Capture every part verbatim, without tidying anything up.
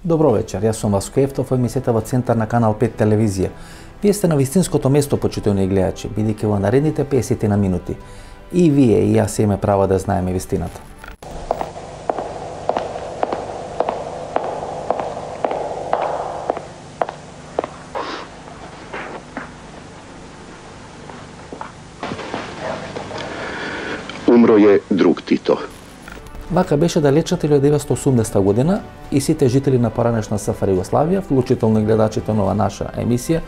Добро вечер, јас сум Васко Ефтов, емисијата во центар на Канал пет телевизија. Вие сте на вистинското место, почитувани гледачи, бидејќи во наредните песет на минути и вие и јас имаме право да знаеме вистината. Умро е друг Тито. Вака беше далечната илјадесетстотини и деветстотини и осумдесета година и сите жители на поранешна СФР Југославија, вклучително и гледачите на ова наша емисија,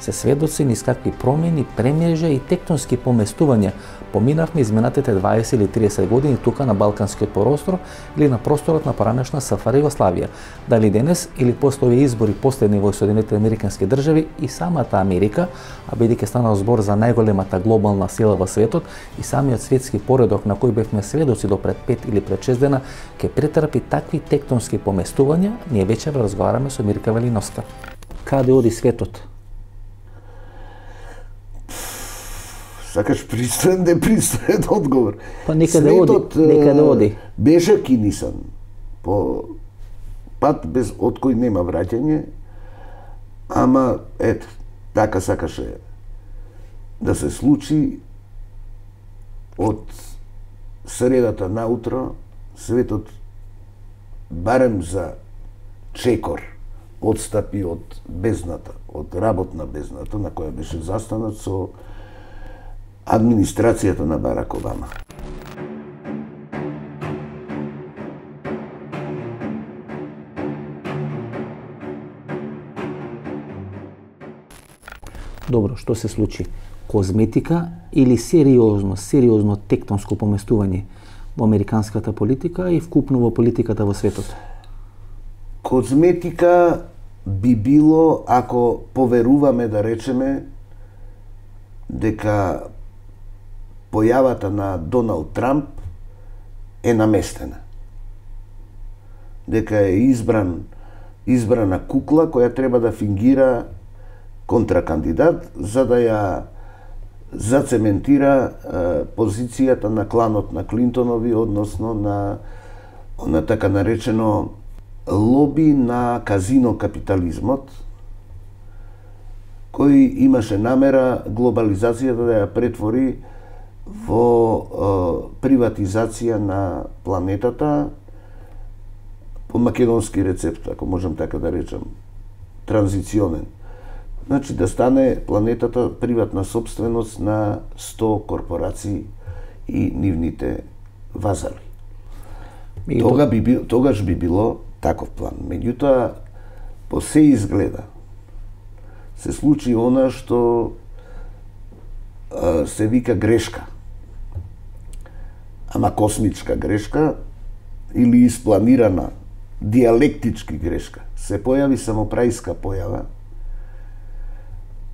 се сведоци низ какви промени, премежа и тектонски поместувања поминавме изминатите дваесет или триесет години тука на Балканскиот простор или на просторот на поранешна СФР Југославија. Дали денес или после овие избори последни во Соединетите американски држави и самата Америка, а бидејќи станал збор за најголемата глобална сила во светот и самиот светски поредок на кој бевме сведоци до пред пет или пред шест дена, ќе претрпи такви тектонски поместувања, ние вечер разговараме со Мирка Велиновска. Каде оди светот? Сакаш пристоен да пристоен одговор. Па некаде оди, некаде оди. Беше кинисан по пат без од кој нема враќање, ама ет така сакаше да се случи. Од средата наутро светот барем за чекор одстапи од бездната, од работна бездната на која беше застанат со администрацијата на Барак Обама. Добро, што се случи? Козметика или сериозно, сериозно тектонско поместување во американската политика и вкупно во политиката во светот? Козметика би било ако поверуваме, да речеме, дека појавата на Доналд Трамп е наместена. Дека е избран избрана кукла која треба да фингира контракандидат за да ја зацементира е, позицијата на кланот на Клинтонови, односно на на така наречено лоби на казино капитализмот, кој имаше намера глобализацијата да ја претвори во е, приватизација на планетата по македонски рецепт, ако можам така да речам, транзиционен. Значи да стане планетата приватна собственост на сто корпорации и нивните вазали. И Тога би бил, тогаш би било таков план. Меѓутоа, по се изгледа, се случи она што а, се вика грешка. Ама космичка грешка или испланирана диалектички грешка. Се појави самопрајска појава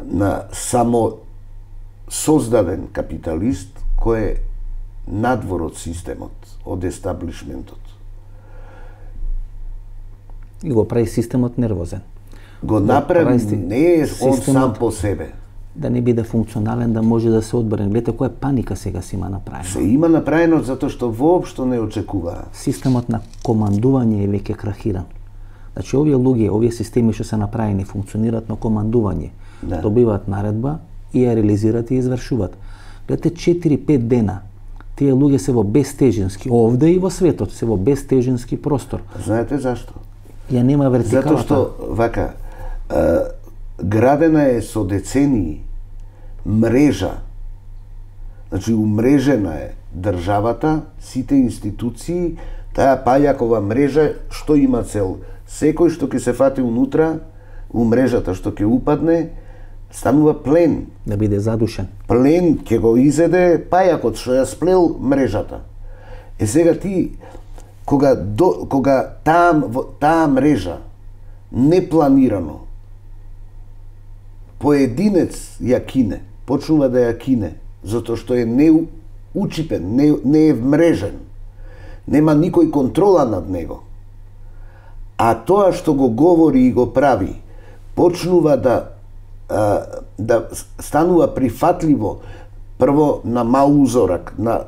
на само создаден капиталист кој е надвор од системот, од естаблишментот. И го прави системот нервозен. Го направи, не е он сам по себе. Да не биде функционален, да може да се одбрани. Гледате која паника сега се има направено. Се има направено затоа што воопшто не очекуваа. Системот на командување е веќе крахиран. Значи овие луѓе, овие системи што се направени функционираат на командување. Да. Добиваат наредба и ја реализираат и извршуваат. Гледате четири-пет дена. Тие луѓе се во безтежински, овде и во светот, се во безтежински простор. Знаете зашто? Ја нема вертикалата. Затоа што, вака, е, градена е со децении мрежа. Значи, умрежена е државата, сите институции, таа пајакова мрежа, што има цел? Секој што ќе се фати унутра, у мрежата што ќе упадне, станува плен. Да биде задушен. Плен ќе го изеде пајакот што ја сплел мрежата. Е сега ти, кога, до, кога таа, таа мрежа непланирано поединец ја кине, почнува да ја кине, затоа што е неучипен, не, не е вмрежен, нема никој контрола над него. А тоа што го говори и го прави, почнува да да станува прифатливо прво на мал узорак, на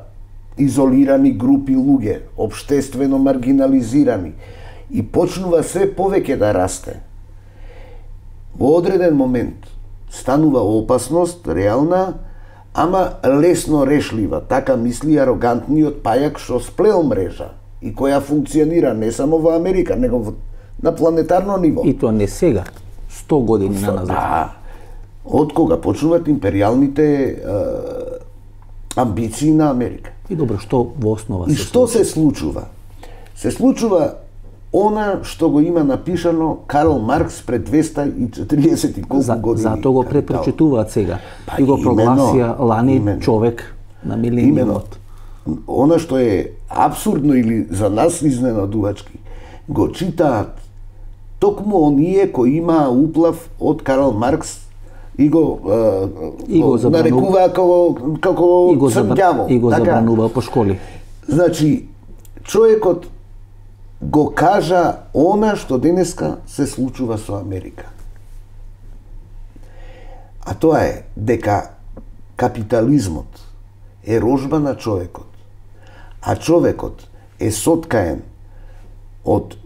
изолирани групи луѓе, општествено маргинализирани, и почнува се повеќе да расте. Во одреден момент станува опасност реална, ама лесно решлива, така мисли арогантниот пајак што сплел мрежа и која функционира не само во Америка, него на планетарно ниво. И тоа не сега, сто години на назад. Да. Од кога почнуваат империјалните е, амбиции на Америка. И добро, што во основа И се што случи? се случува? Се случува она што го има напишано Карл Маркс пред двеста и четириесет и колку За, години. затоа го препрочитуваат сега. Па, и го именно, прогласија лани именно. човек на Именно. милениумот. Она што е абсурдно или за нас изненадувачки, го читаат токму оние кои имаа уплав од Карл Маркс и го, е, И го го забрану- нарекуваа како, како И го, забра... црнѓаво. и го Така? забранува по школи. Значи, човекот го кажа она што денеска се случува со Америка. А тоа е дека капитализмот е рожба на човекот, а човекот е соткаен од,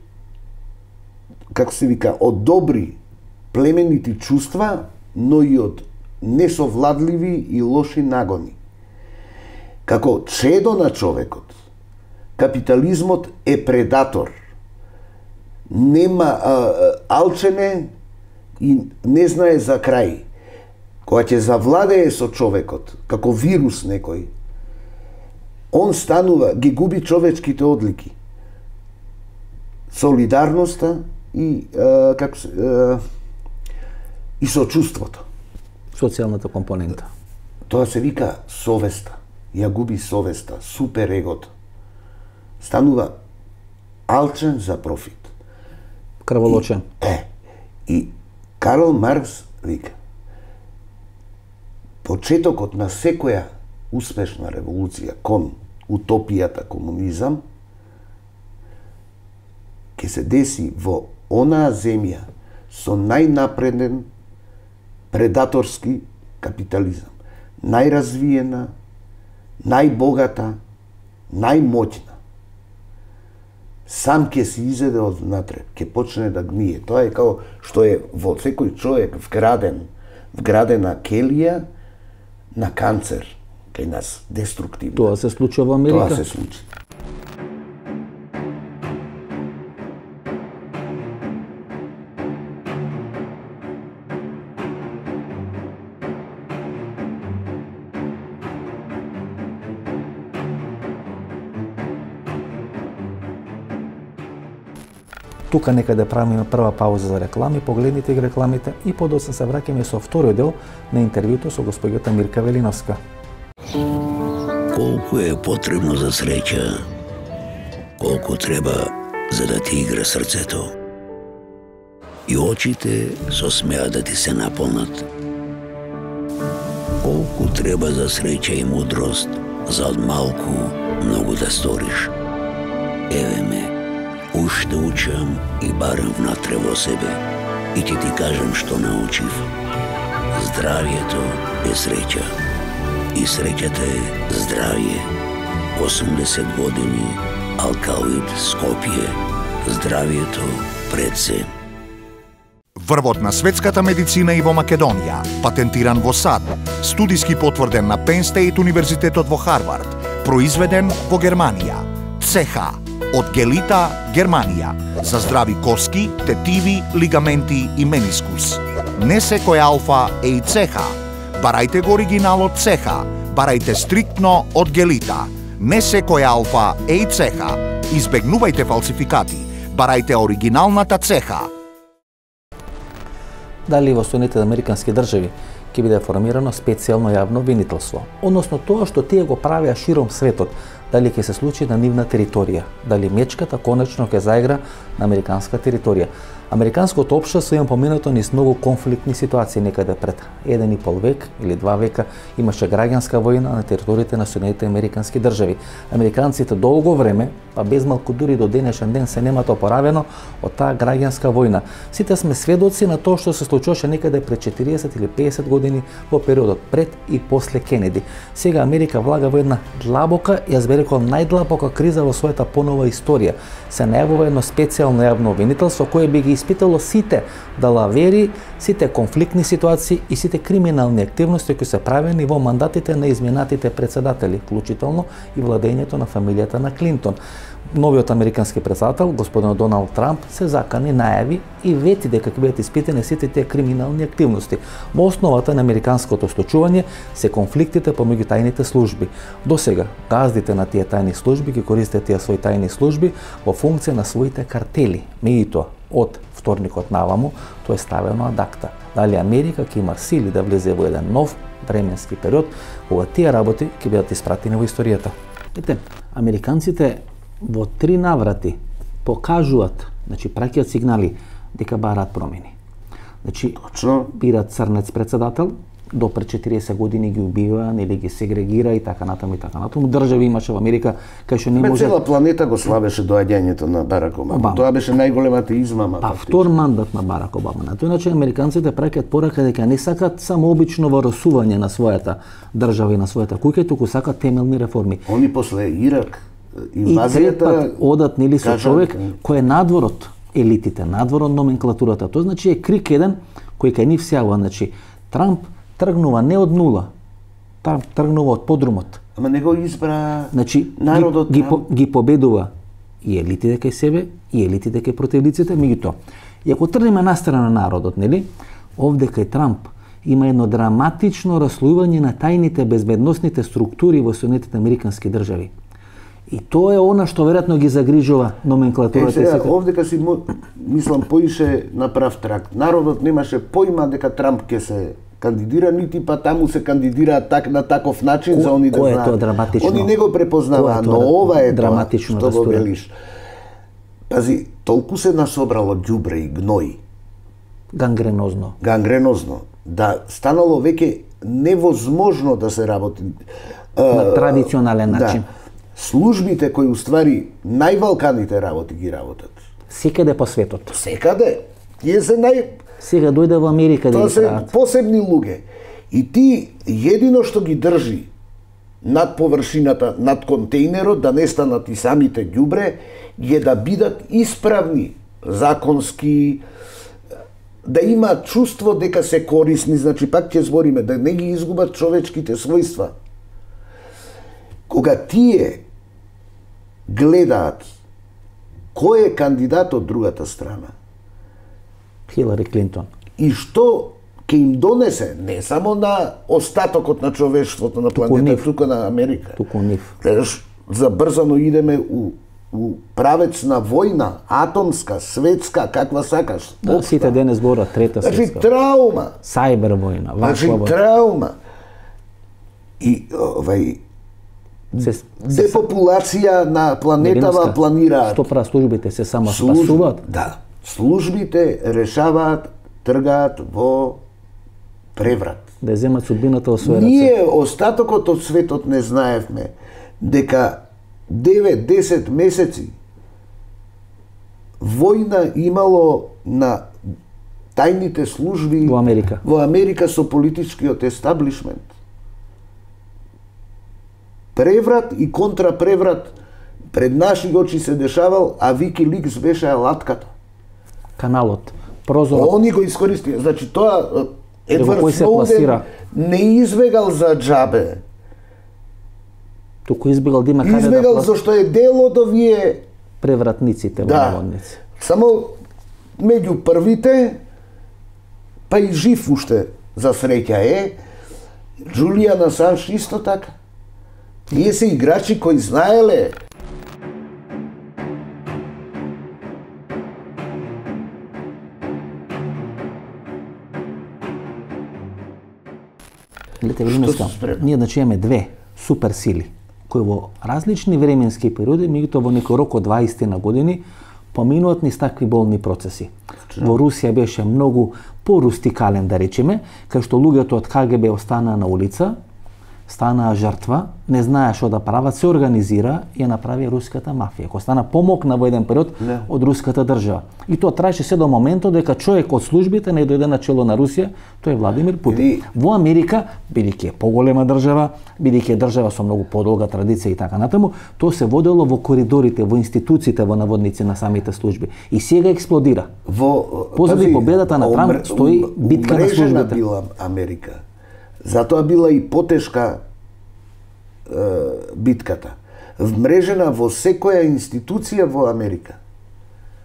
како се вика, од добри племенити чувства, но и од несовладливи и лоши нагони. Како чедо на човекот, капитализмот е предатор. Нема а, алчене и не знае за крај. Кога ќе завладее со човекот, како вирус некој, он станува, ги губи човечките одлики. Солидарноста и а, како се, а, и сочувството. Социјалната компонента. Тоа се вика совеста. Ја губи совеста, супер егото. Станува алчен за профит. Крволочен. Е, и Карл Маркс вика, почетокот на секоја успешна револуција кон утопијата комунизам ќе се деси во онаа земја со најнапреден предаторски капитализам. Најразвиена, најбогата, најмоќна. Сам ќе се изеде од внатре, ќе почне да гние. Тоа е како што е во секој човек вграден, вградена келија на канцер кај нас, деструктивно. Тоа се случува во Америка. Тоа се случи. Тука нека да правиме прва пауза за реклами, погледнете ги рекламите и подоцна се враќаме со вториот дел на интервјуто со госпоѓата Мирка Велиновска. Колку е потребно за среќа, колку треба за да ти игра срцето. И очите со смеа да ти се наполнат. Колку треба за среќа и мудрост, за од малку многу да сториш. Еве ме, уште учам и барам внатре во себе. И ќе ти кажам што научив. Здравието е среќа. И среќата е здравје. осумдесет години, Алкалоид, Скопје. Здравието пред се. Врвот на светската медицина и во Македонија, патентиран во САД, студиски потврден на Penn State Универзитетот во Харвард, произведен во Германија. ЦЕХА од Гелита, Германија, за здрави коски, тетиви, лигаменти и менискус. Не секој алфа е и ЦЕХА. Барајте го оригиналот ЦЕХА, барајте стриктно од Гелита. Не секој алфа е и ЦЕХА. Избегнувајте фалсификати. Барајте оригиналната ЦЕХА. Дали во Соединетите Американски држави ќе биде формирано специјално јавно обвинителство, односно тоа што тие го правеа широм светот, дали ќе се случи на нивна територија, дали мечката конечно ќе заигра на американска територија. Американското општество има поминато низ многу конфликтни ситуации, некаде пред еден и пол век или два века имаше граѓанска војна на териториите на Соединетите Американски држави. Американците долго време, па без малку дури до денешен ден, се немат опоравено од таа граѓанска војна. Сите сме сведоци на тоа што се случуваше некаде пред четириесет или песет години во периодот пред и после Кенеди. Сега Америка влага во една длабока и ја збере преку најдлабока криза во својата понова историја. Се најавува едно специјално јавно обвинителство кое би ги испитало сите далавери, сите конфликтни ситуации и сите криминални активности кои се правени во мандатите на изминатите председатели, вклучително и владењето на фамилијата на Клинтон. Новиот американски председател, господин Доналд Трамп, се закани, најави и вети дека ќе бидат испитани сите тие криминални активности. Во основата на американското случување се конфликтите помеѓу тајните служби. До сега, газдите на тие тајни служби ги користат тие своји тајни служби во функција на своите картели. Меѓутоа, од вторникот наваму, тоа е ставено ад акта. Дали Америка ќе има сили да влезе во еден нов временски период, кога тие работи ќе бидат испратени во историјата. Ете, американците во три наврати покажуваат, значи праќаат сигнали дека бараат промени. Значи, Точно. бират црнец председател, до пред четириесет години ги убива, нели ги сегрегира и така натаму и така натаму. Држави имаше во Америка кај што не Ме може. цела планета го славеше доаѓањето на Барак Обама. Обама. Тоа беше најголемата измама. Па фактично. втор мандат на Барак Обама. На тој начин американците праќаат порака дека не сакат само обично варосување на својата држава и на својата куќа, туку сакат темелни реформи. Они после Ирак, И трет инвазијата... пат одат нели со кажа- човек кој е надвор од елитите, надвор од номенклатурата. Тоа значи е крик еден кој кај нив сјава, значи Трамп тргнува не од нула, Трамп тргнува од подрумот. Ама не го избра Значи народот. ги, ги, Трамп. по- ги победува и елитите кај себе, и елитите кај противниците, меѓутоа. И ако тргнеме настрана народот, нели, овде кај Трамп има едно драматично раслојување на тајните безбедносните структури во Соединетите американски држави. И тоа е она што веројатно ги загрижува Е, номенклатурата. и сега, сите. овдека си, мо- мислам, поише на прав трак. Народот немаше појма дека Трамп ќе се кандидира, нити па таму се кандидира так, на таков начин Ко- за они да кој е знаат. тоа драматично? Они не го Кој препознаваа, е но тоа ова е драматично тоа што го растура? велиш. Пази, толку се насобрало ѓубре и гној, Гангренозно. гангренозно, да станало веќе невозможно да се работи. На традиционален начин. Да. Службите кои уствари највалканите работи ги работат. Секаде по светот. Секаде. Тие се нај... Сега дојде во Америка да Тоа ги се прават. посебни луѓе. И ти, едино што ги држи над површината, над контейнерот, да не станат и самите ѓубре, е да бидат исправни, законски, да имаат чувство дека се корисни, значи пак ќе збориме, да не ги изгубат човечките својства. Кога тие гледаат кој е кандидат од другата страна, Хилари Клинтон. и што ќе им донесе не само на остатокот на човештвото на нив. планета, туку на Америка. Туку нив. Гледаш, забрзано идеме у, у правец на војна, атомска, светска, каква сакаш. Да, општа. сите денес зборат трета Значи светска. траума, Сајбер војна, значи ваква војна. траума. И овај Се, се, депопулација на планетава Невинска, планираат. Што прават службите? Се само Служби- спасуваат? Да. Службите решаваат, тргаат во преврат. Да земат судбината во своја раце. Ние, остатокот од светот, не знаевме дека девет до десет месеци војна имало на тајните служби Во Америка. во Америка со политичкиот естаблишмент. Преврат и контрапреврат пред наши очи се дешавал, а Викиликс беше алатката. Каналот, прозорот. Они го искористија. Значи тоа И во Едвард кој се Сноуден пласира? не избегал за џабе. Туку избегал да има каде да Избегал плас... зашто е дел од овие, превратниците во да, наводници. само меѓу првите, па и жив уште за среќа е, Джулијан Асанж исто така. Тие се играчи кои знаеле. Гледате, Велинеска, се спрема? ние значи имаме две суперсили кои во различни временски периоди, меѓутоа во некој рок од дваесет на години, поминуваат низ такви болни процеси. Во Русија беше многу порустикален, да речеме, кај што луѓето од ка ге бе останаа на улица, станаа жртва, не знаеш што да прават, се организира и ја направи руската мафија, која стана помокна во еден период не. од руската држава. И тоа траеше се до моментот дека човек од службите не дојде на чело на Русија, тој е Владимир Путин. И... Во Америка, бидејќи е поголема држава, бидејќи е држава со многу подолга традиција и така натаму, тоа се водело во коридорите, во институциите, во наводници на самите служби. И сега експлодира. Во позади победата на Трамп стои битка на службите. Била Америка. Затоа била и потешка е, битката. Вмрежена во секоја институција во Америка.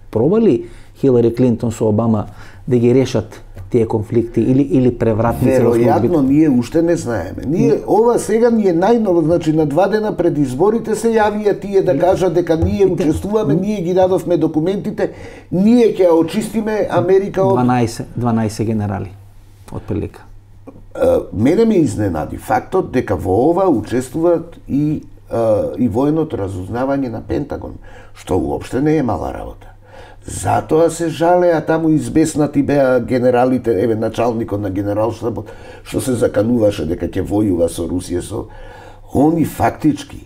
Проба ли Хилари Клинтон со Обама да ги решат тие конфликти или или превратници во службите? Веројатно ние уште не знаеме. Ние ова сега ни е најново, значи на два дена пред изборите се јавија тие да кажат дека ние учествуваме, ние ги дадовме документите, ние ќе ја очистиме Америка од дванаесет дванаесет генерали отприлика. Мене ме изненади фактот дека во ова учествуваат и и военото разузнавање на Пентагон, што уопште не е мала работа. Затоа се жалеа таму избеснати беа генералите, еве началникот на генералштабот, што се закануваше дека ќе војува со Русија, со они фактички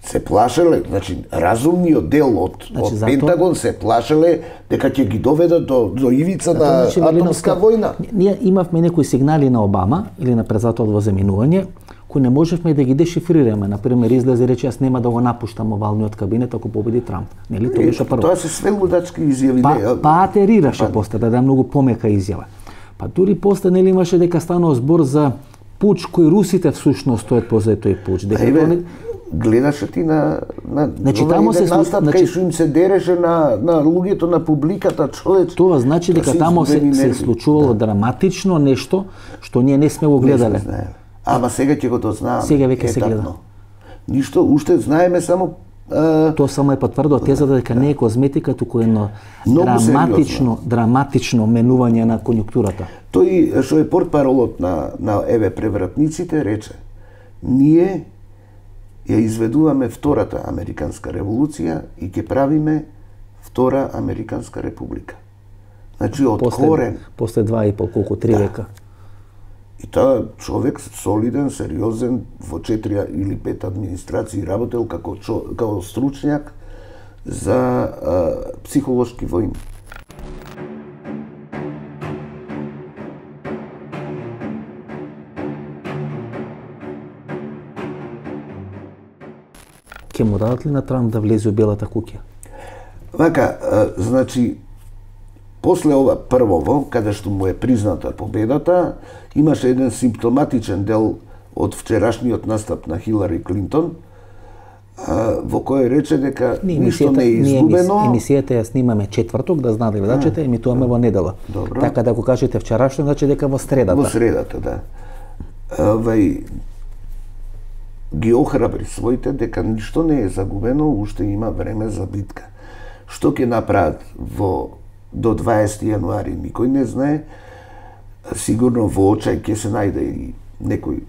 се плашеле, значи разумниот дел од, значи, од зато... Пентагон се плашеле дека ќе ги доведат до, до ивица на значи, атомска војна. Ние имавме некои сигнали на Обама или на председателот во заминување, кои не можевме да ги дешифрираме. Например, излезе рече јас нема да го напуштам овалниот кабинет ако победи Трамп. Нели тоа беше прво. Тоа се све лудачки изјави. Па, па атерираше после да даде многу помека изјава. Па дури после нели имаше дека станува збор за пуч кој русите всушност стоят позади тој пуч. Дека Еве, не... гледаше ти на на значи таму се настап значи... кај што им се дереше на на луѓето на публиката, човеч. Тоа значи дека таму се, се случувало да. драматично нешто што ние не сме го гледале. Ама сега ќе го дознаеме. Сега веќе се гледа. Ништо, уште знаеме само а... тоа само е потврдува тезата дека не е козметика, туку едно драматично, драматично менување на конјунктурата. Тој што е портпаролот на на еве превратниците рече: ние ја изведуваме втората американска револуција и ќе правиме втора американска република. Значи од после, корен. После два и пол, колку три да. века. И тоа човек солиден, сериозен, во четири или пет администрации работел како чо, како стручњак за а, психолошки војни. Ке му дадат ли на Трамп да влезе у Белата куќа? Вака, а, значи, после ова првово, каде што му е призната победата, имаше еден симптоматичен дел од вчерашниот настап на Хилари Клинтон, а, во кој рече дека ништо не е изгубено. Ние емисијата ја снимаме четврток, да знаат гледачите, емитуваме во недела. Добро. Така да го кажете вчерашно, значи дека во средата. Во средата, да. Вај ги охрабри своите дека ништо не е загубено, уште има време за битка. Што ќе направат во до дваесети јануари, никој не знае. Сигурно во очај ќе се најде и некој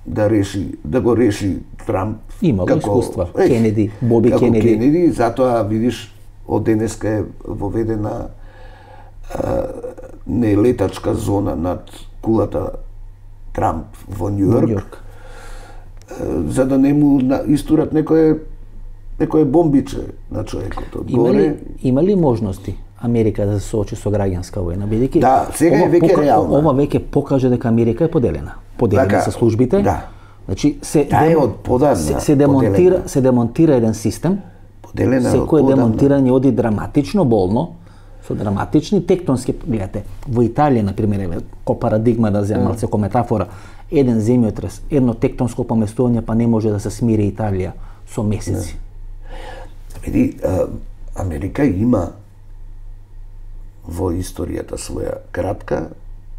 да реши, да го реши Трамп. Има како искуства. Е, Кенеди, Боби како Кенеди. Кенеди, затоа видиш од денеска е воведена а, нелетачка зона над кулата Трамп во Њујорк. Њујорк. За да не му истурат некое некое бомбиче на човекот од има горе. ли, има ли можности Америка да се соочи со граѓанска војна, бидејќи да, сега е веќе реално. Ова веќе покажа дека Америка е поделена. Поделена така, со службите. Да. Значи се да, е од подавна, се, се демонтира, поделена. се демонтира еден систем. Поделена секое од демонтирање оди драматично болно, со драматични тектонски, гледате, во Италија на пример, еве, ко парадигма да земам, mm. ко метафора, еден земјотрес, едно тектонско поместување па не може да се смири Италија со месеци. Види, Америка има во историјата своја кратка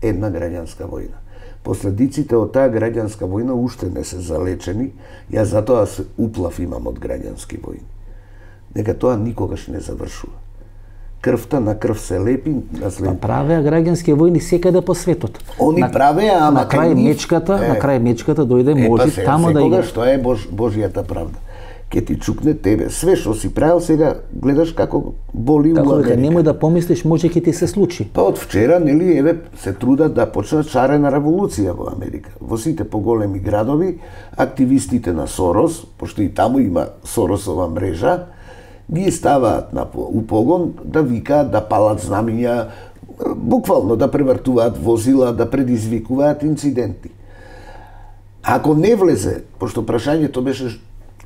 една граѓанска војна. Последиците од таа граѓанска војна уште не се залечени, ја затоа се уплав имам од граѓански војни. Дека тоа никогаш не завршува. Крвта на крв се лепи, на след... Па правеа граѓански војни секаде по светот. Они на, правеа, ама на крај мечката, е, на крај мечката дојде може е, па, тамо да игра. Што е Бож, Божјата правда. ќе ти чукне тебе. Све што си правил сега, гледаш како боли Како у Америка. дека немој да помислиш, може ќе ти се случи. Па од вчера, нели, еве, се трудат да почнат шарена револуција во Америка. Во сите поголеми градови, активистите на Сорос, пошто и таму има Соросова мрежа, ги ставаат на у погон да викаат, да палат знамиња, буквално да превртуваат возила, да предизвикуваат инциденти. Ако не влезе, пошто прашањето беше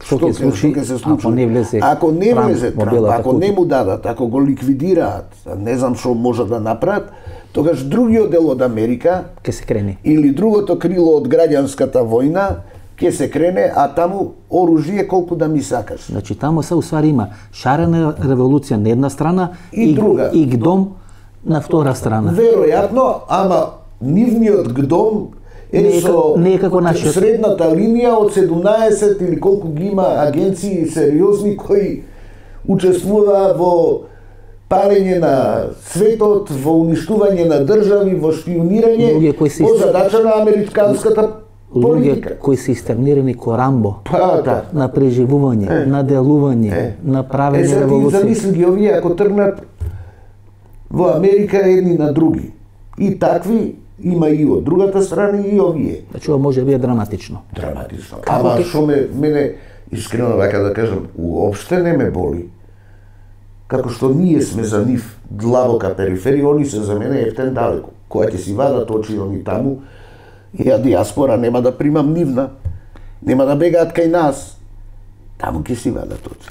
што ќе случи, се случи, ако не влезе, ако не Трамп, влезе Трамп, ако не му дадат, ако го ликвидираат, не знам што може да направат, тогаш другиот дел од Америка ќе се крене. Или другото крило од граѓанската војна ќе се крене, а таму оружје колку да ми сакаш. Значи таму се усвари има шарена револуција на една страна и, и друга. И гдом на втора страна. Веројатно, ама нивниот гдом е Не е со ка- не е како нашиот. средната линија од седумнаесет или колку ги има агенции сериозни кои учествуваа во парење на светот, во уништување на држави, во шпионирање, Луѓе кои се во ист- задача на американската политика. Луѓе кои се истернирани ко Рамбо, Па, да. на преживување, Е. на делување, Е. на Е, правење сега ти револуција. замисли ги овие ако тргнат во Америка едни на други. И такви има и од другата страна и овие. Значи ова може да биде драматично. Драматично. Ама што ме мене искрено вака да кажам, уопште не ме боли. Како што ние сме за нив длабока периферија, они се за мене ефтен далеко. Која ќе си вадат очи они таму, и ја диаспора нема да примам нивна, нема да бегаат кај нас. Таму ќе си вадат очи.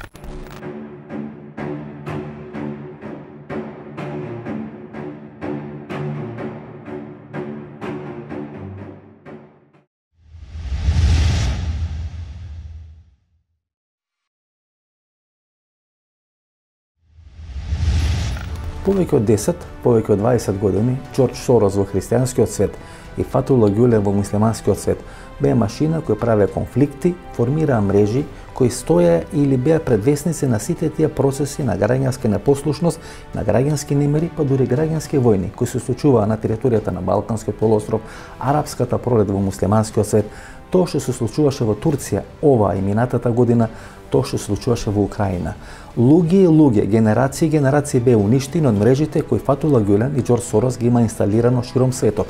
Повеќе од десет, повеќе од дваесет години, Џорџ Сорос во христијанскиот свет и Фатула Гюлен во муслиманскиот свет беа машина кои правеа конфликти, формираа мрежи, кои стоја или беа предвесници на сите тие процеси на граѓанска непослушност, на граѓански немири, па дури граѓански војни, кои се случуваа на територијата на Балканскиот полуостров, арапската пролет во муслиманскиот свет, тоа што се случуваше во Турција оваа и минатата година, тоа што се случуваше во Украина. Луѓе и луѓе, генерации и генерации беа уништени од мрежите кои Фатула Гюлен и Џорџ Сорос ги има инсталирано широм светот.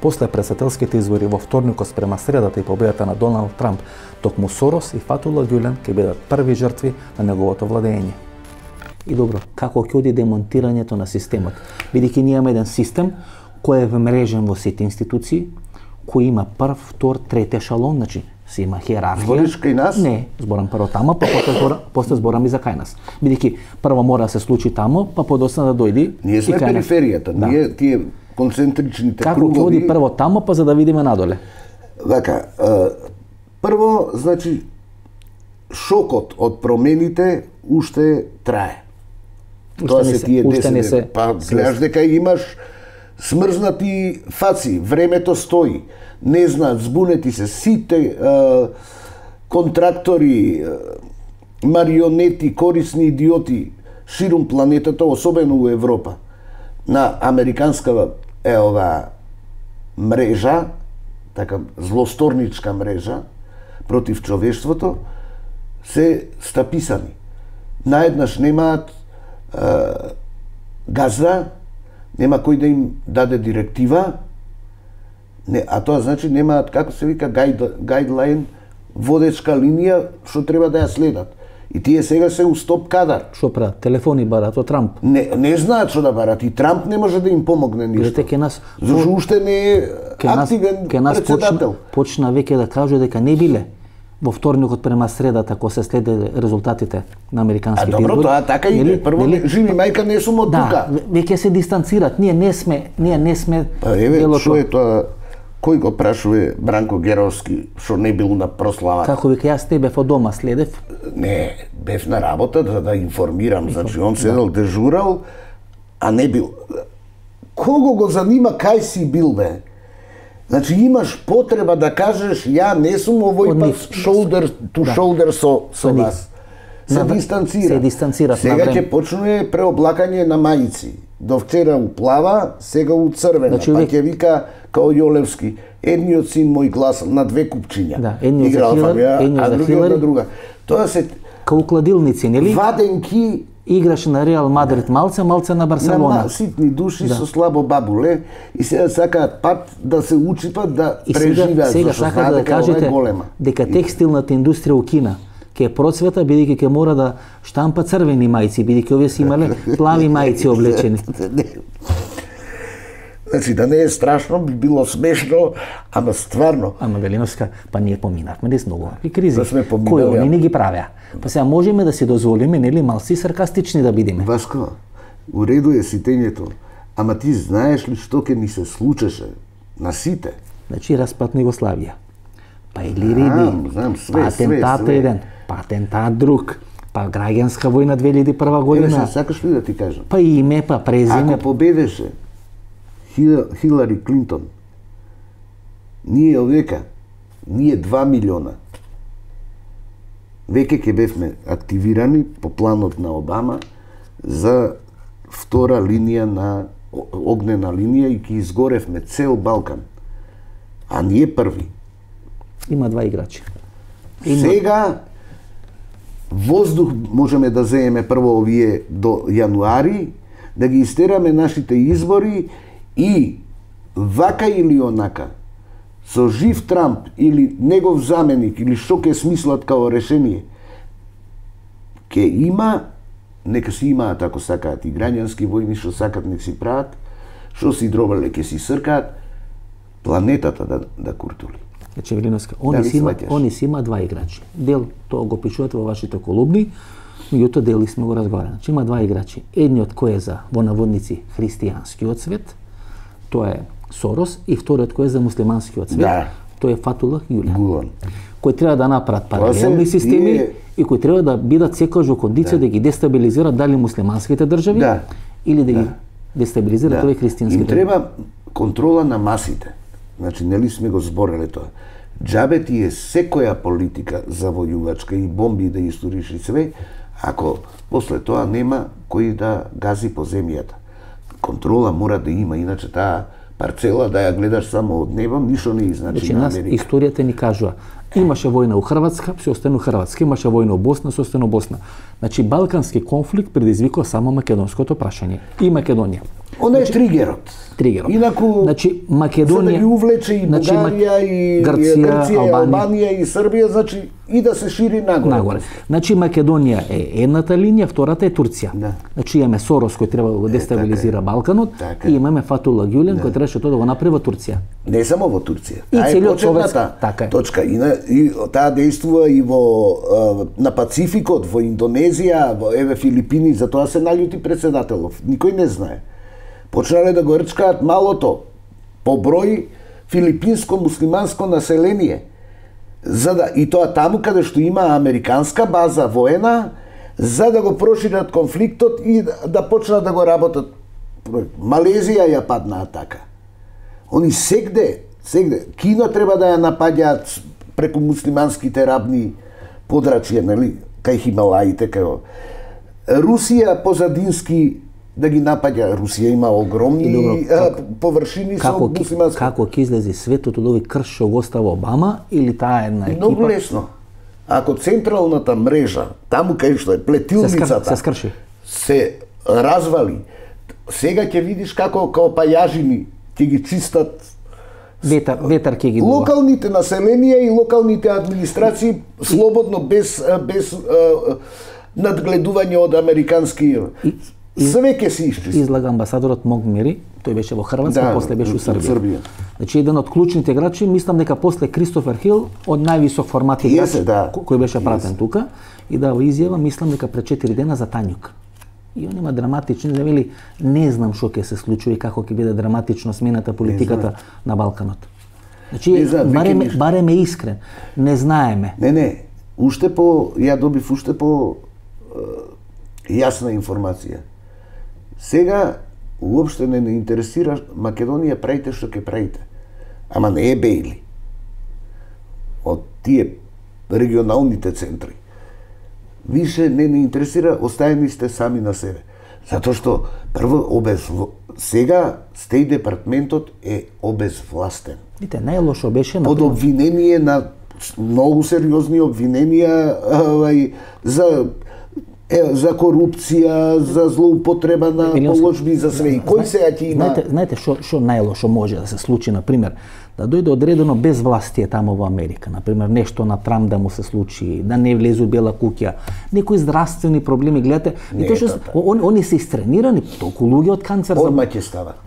После председателските избори во вторникот спрема средата и победата на Доналд Трамп, токму Сорос и Фатула Гюлен ќе бидат први жртви на неговото владење. И добро, како ќе оди демонтирањето на системот? Бидејќи ние имаме еден систем кој е вмрежен во сите институции, кој има прв, втор, трети ешалон, значи се има хиерархија. Збориш кај нас? Не, зборам прво тамо, па после зборам, после зборам и за кај нас. Бидејќи прво мора да се случи тамо, па подоцна да дојди Ние сме и кај нас. периферијата, Да. ние тие концентричните Како ќе кругови. оди прво тамо, па за да видиме надоле? Вака, а, прво, значи, шокот од промените уште трае. Уште Тоа не се се- тие уште не десет се дена. Па, свесни. гледаш дека имаш смрзнати фаци, времето стои, не знаат, збунети се, сите а, контрактори, а, марионети, корисни идиоти ширум планетата, особено у Европа, на американска е ова мрежа, така злосторничка мрежа против човештвото, се стаписани. Наеднаш немаат е, газда, нема кој да им даде директива, не, а тоа значи немаат, како се вика, гайд, гайдлайн, водечка линија што треба да ја следат. И тие сега се у стоп кадар. Што прават? Телефони барат од Трамп. Не, не знаат што да барат и Трамп не може да им помогне ништо. Гледате ке нас Зашто уште не е ке нас, активен ке нас почна, председател. почна веќе да кажу дека не биле во вторникот према средата кога се следеле резултатите на А американските добро, избори. тоа така и нели- прво нели- живи мајка не сум од Да, тука. ве- веќе се дистанцират. Ние не сме, ние не сме Па еве, делото. што е тоа? Кој го прашува Бранко Геровски што не бил на прослава? Како вика, јас те бев од дома следев. Не, бев на работа да, да информирам, значи он седел дежурал, а не бил. Кого го занима кај си бил бе? Значи имаш потреба да кажеш ја не сум овој Од пат нив. shoulder to Да. shoulder со со нив. вас. Се На- дистанцира. се дистанцира Сега на време. ќе почне преоблакање на мајци. До вчера у плава, сега у црвена. Значи, па увек- ќе вика као Јолевски, едниот син мој глас на две купчиња. Да, едниот за Играл Хилари, фамилија, едниот а за другиот Хилари. на друга. Тоа се Као кладилници, нели? Ваденки Играше на Реал Мадрид малце, малце на Барселона. на ситни души Да. со слабо бабуле и сега сакаат пат да се учипат да И сега, преживеат, сега зашто сака знаат да дека ова е кажете голема. дека текстилната индустрија у Кина ќе процвета, бидејќи ќе мора да штампа црвени мајци, бидејќи овие си имале плави мајци облечени. Значи, да не е страшно, би било смешно, ама стварно. Ама Велиновска, па ние поминавме дес многу и кризи. Да сме поминали, Кои они а- не ги правеа. Па сега можеме да си дозволиме, нели, малци саркастични да бидеме. Васко, у реду е ситењето, ама ти знаеш ли што ќе ни се случеше на сите? Значи распад на Југославија. Па или Знам, риди, знам, све, па све, атентат све. еден, па атентат друг, па граѓанска војна две илјади и прва Еве, година, се сакаш ли да ти кажам? па име, па презиме, Ако победеше Хил- Хилари Клинтон, ние овека, ние два милиона, веќе ќе бевме активирани по планот на Обама за втора линија на о- огнена линија и ќе изгоревме цел Балкан. А ние први. има два играчи. Има- Сега воздух можеме да земеме прво овие до јануари, да ги истераме нашите избори и вака или онака, со жив Трамп или негов заменик или што ќе смислат као решение, ќе има, нека си имаат ако сакаат и граѓански војни што сакат нек си прават, што си дробале ќе си сркаат, планетата да, да куртули. Значи Велиновска, они Дали си има, сваќаш? они си има два играчи. Дел тоа го пишувате во вашите колумни, меѓутоа дели сме го разговарали. Значи има два играчи. Едниот кој е за во наводници христијанскиот свет, тоа е Сорос, и вториот кој е за муслиманскиот свет, Да. тоа е Фатулах Јулиан. Гулан. Кои треба да направат Тоа паралелни се системи тие- и кои треба да бидат секогаш во кондиција да. ги дестабилизираат дали муслиманските држави Да. или да, ги Да. дестабилизираат овие Им христијански држави. треба контрола на масите. Значи, нели сме го збореле тоа. Джабе ти е секоја политика завојувачка и бомби да историш и све, ако после тоа нема кој да гази по земјата. Контрола мора да има, иначе таа парцела да ја гледаш само од небо, ништо не значи Значи, на нас Америка. историјата ни кажува, имаше војна у Хрватска, се остана у Хрватска, имаше војна у Босна, се остана у Босна. Значи, балкански конфликт предизвикува само македонското прашање и Македонија. Она е тригерот. Тригерот. Инаку, Значи, за Македонија... да ги увлече и значи, Бугарија, и Грција, Грција, и Албанија. Албанија, и Србија, значи и да се шири нагоре. Нагоре. Значи Македонија е едната линија, втората е Турција. Да. Значи имаме Сорос кој треба да го дестабилизира Балканот Така и е. имаме Фатулах Ѓулен кој требаше тоа да го направи во Турција. Не само во Турција. И Таа е целиот почетната советска- така е. точка. И, на, и таа действува и во а, на Пацификот, во Индонезија, во еве Филипини, за тоа се наљути председателов. Никој не знае. Почнале да го рчкаат малото по број филипинско-муслиманско население. За да и тоа таму каде што има американска база воена, за да го прошират конфликтот и да, да почнат да го работат. Малезија ја паднаа така. Они сегде, сегде, Кина треба да ја напаѓаат преку муслиманските рабни подрачја, нели, кај Хималаите, кај Русија позадински да ги напаѓа. Русија има огромни Добро, а, како- површини со Како ки- муслимански. како ќе излезе светот од овој крш што го остава Обама или таа една екипа Многу лесно. Ако централната мрежа, таму кај што е се, скр... плетилницата, се скрши? се развали, сега ќе видиш како као пајажини ќе ги чистат Ветар, ветар ќе ги дува. локалните населенија и локалните администрации слободно без без а, надгледување од американски све ќе се исчисти. Излага амбасадорот Могмери, тој беше во Хрватска, Да, после беше у во Србија. Србија. Значи еден од клучните играчи, мислам дека после Кристофер Хил, од највисок формат играч Јесе, да. ко- кој беше пратен тука и дава изјава, мислам дека пред четири дена за Тањук. И он има драматични, да вели, не знам што ќе се случи и како ќе биде драматично смената политиката на Балканот. Значи, Не знаат, веќе барем, ништо. барем е искрен. Не знаеме. Не, не, уште по ја добив уште по е, јасна информација. Сега уопште не не интересира Македонија, правите што ќе правите. Ама не е Бејли. Од тие регионалните центри. Више не не интересира, оставени сте сами на себе. Затоа што прво обез сега стеј департментот е обезвластен. Видите, најлошо беше на Под обвинение на многу сериозни обвиненија овај за е, за корупција, за злоупотреба на положби, за све. И кој сега ќе има... Знаете, знаете што што најлошо може да се случи, на пример, да дојде одредено безвластие тамо во Америка, на пример, нешто на Трамп да му се случи, да не влезе у Бела куќа, некои здравствени проблеми, гледате, и тоа што он, они се истренирани, толку луѓе од канцер за... Одма ќе става.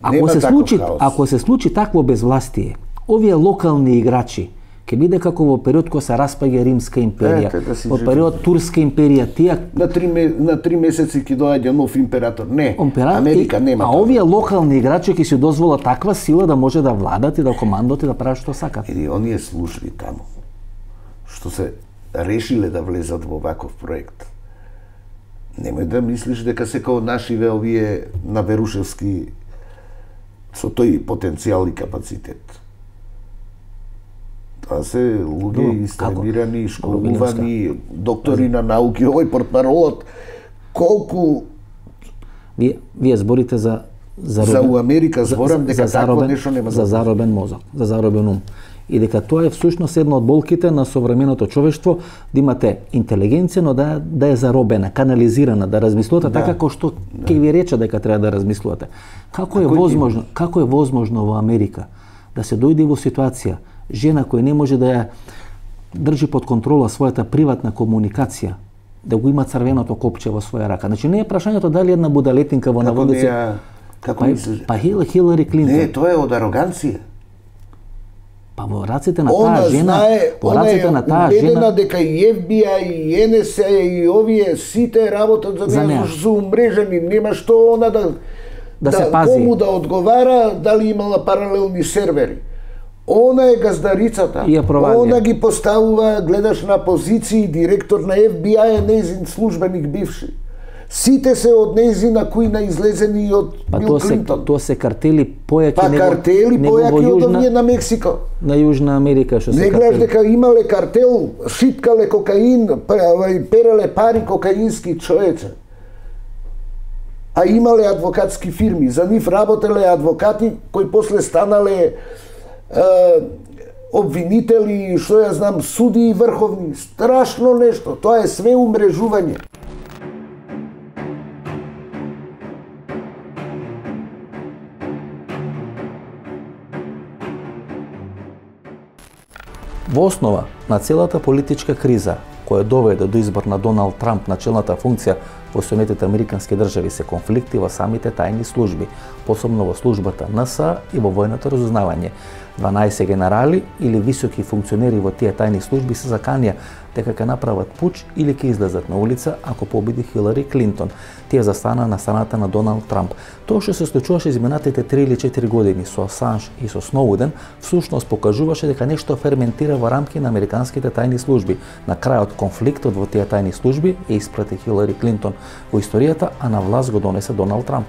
Ако се случи, ако се случи такво безвластие, овие локални играчи ќе биде како во период кога се распаѓа Римска империја, Ете, да во период Турска империја, тие на три на три месеци ќе доаѓа нов император. Не, Император, Америка нема. А овие локални играчи ќе се дозволат таква сила да може да владат и да командат и да прават што сакат. Или оние служби таму што се решиле да влезат во ваков проект. Немој да мислиш дека се као нашиве овие на Верушевски со тој потенцијал и капацитет. Тоа се луѓе истренирани, школувани, доктори на науки, овој портпаролот, колку... Вие, вие зборите за... За, за у Америка зборам дека за заробен, такво нешто нема за заробен мозок, за заробен ум. И дека тоа е всушност една од болките на современото човештво, да имате интелигенција, но да, да е заробена, канализирана, да размислувате да. така како што да. ќе ви рече дека треба да размислувате. Како е возможно, како е возможно во Америка да се дојде во ситуација жена која не може да ја држи под контрола својата приватна комуникација, да го има црвеното копче во своја рака. Значи не е прашањето дали една будалетинка во наводници. Како па, мислиш? Па Хилари Клинтон. Не, тоа е од ароганција. Па во раците на таа жена, знае, во раците на таа жена, убедена дека и Еф Би Ај, и Ен Ес А и овие сите работат за неа, за се умрежени, нема што она да да, да се пази. пази. Кому да одговара, дали имала паралелни сервери. Она е газдарицата. Она ги поставува, гледаш на позиции, директор на Еф Би Ај е нејзин службеник бивши. Сите се од нејзина кујна излезени од па Бил Клинтон. Па тоа се картели појаки па, него, картели него појаки во од Јужна, овие на Мексико. На Јужна Америка што се не гледаш дека имале картел, шиткале кокаин, переле пари кокаински човече. А имале адвокатски фирми, за нив работеле адвокати кои после станале е, обвинители, што ја знам, суди и врховни. Страшно нешто, тоа е све умрежување. Во основа на целата политичка криза која доведе до избор на Доналд Трамп на челната функција во Соединетите американски држави се конфликти во самите тајни служби, посебно во службата Ен Ес А и во војното разузнавање. дванаесет генерали или високи функционери во тие тајни служби се заканија дека ќе направат пуч или ќе излезат на улица ако победи Хилари Клинтон. Тие застана на страната на Доналд Трамп. Тоа што се случуваше изминатите три или четири години со Асанж и со Сноуден, всушност покажуваше дека нешто ферментира во рамки на американските тајни служби. На крајот конфликтот во тие тајни служби е испрати Хилари Клинтон во историјата, а на власт го донесе Доналд Трамп.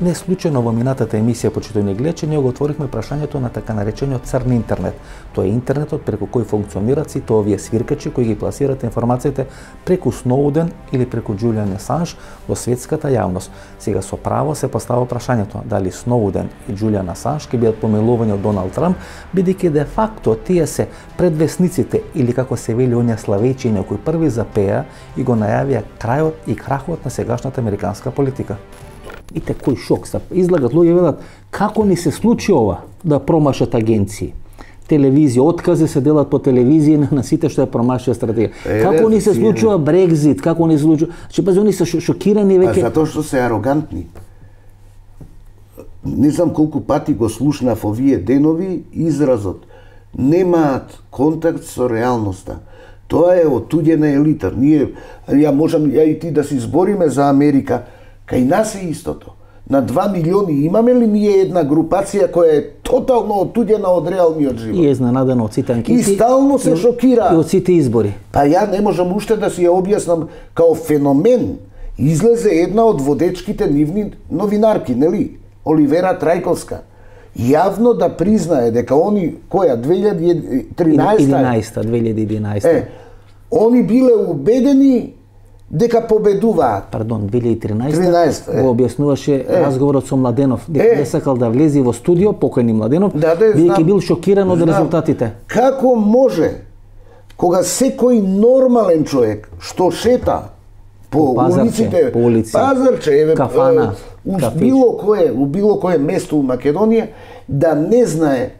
Не случајно во минатата емисија почитувани гледачи ние го отворивме прашањето на така наречениот црн интернет. Тоа е интернетот преку кој функционираат сите овие свиркачи кои ги пласираат информациите преку Сноуден или преку Џулијан Асанж во светската јавност. Сега со право се постава прашањето дали Сноуден и Џулијан Асанж ќе бидат помилувани од Доналд Трамп, бидејќи де факто тие се предвесниците или како се вели оние славејчиња кои први запеа и го најавија крајот и крахот на сегашната американска политика. Ите кој шок, излагат луѓе велат како ни се случи ова да промашат агенции. Телевизија, откази се делат по телевизија на сите што ја промашија стратегија. Е, како ни се случува Брекзит, како ни се случува... Че пази, они се шокирани веќе... А затоа што се арогантни. Не знам колку пати го слушнав овие денови изразот. Немаат контакт со реалноста. Тоа е отуѓена елита. Ние, ја можам, ја и ти да си збориме за Америка, кај нас е истото. На два милиони имаме ли ние една групација која е тотално отуѓена од реалниот живот? И е изненадена од сите анкети. И стално се шокира. И од сите избори. Па ја не можам уште да си ја објаснам као феномен. Излезе една од водечките нивни новинарки, нели? Оливера Трајковска. Јавно да признае дека они, која, две илјади и тринаесета? две илјади и единаесета. Е, они биле убедени дека победуваат. Пардон, две илјади и тринаесета тринаесета, го објаснуваше е. разговорот со Младенов, дека не сакал да влезе во студио, покојни Младенов, да, да, бидејќи бил шокиран од резултатите. Како може кога секој нормален човек што шета по, по улиците, по улици, пазарче, еве, кафана, у било кое, у било кое место у Македонија, да не знае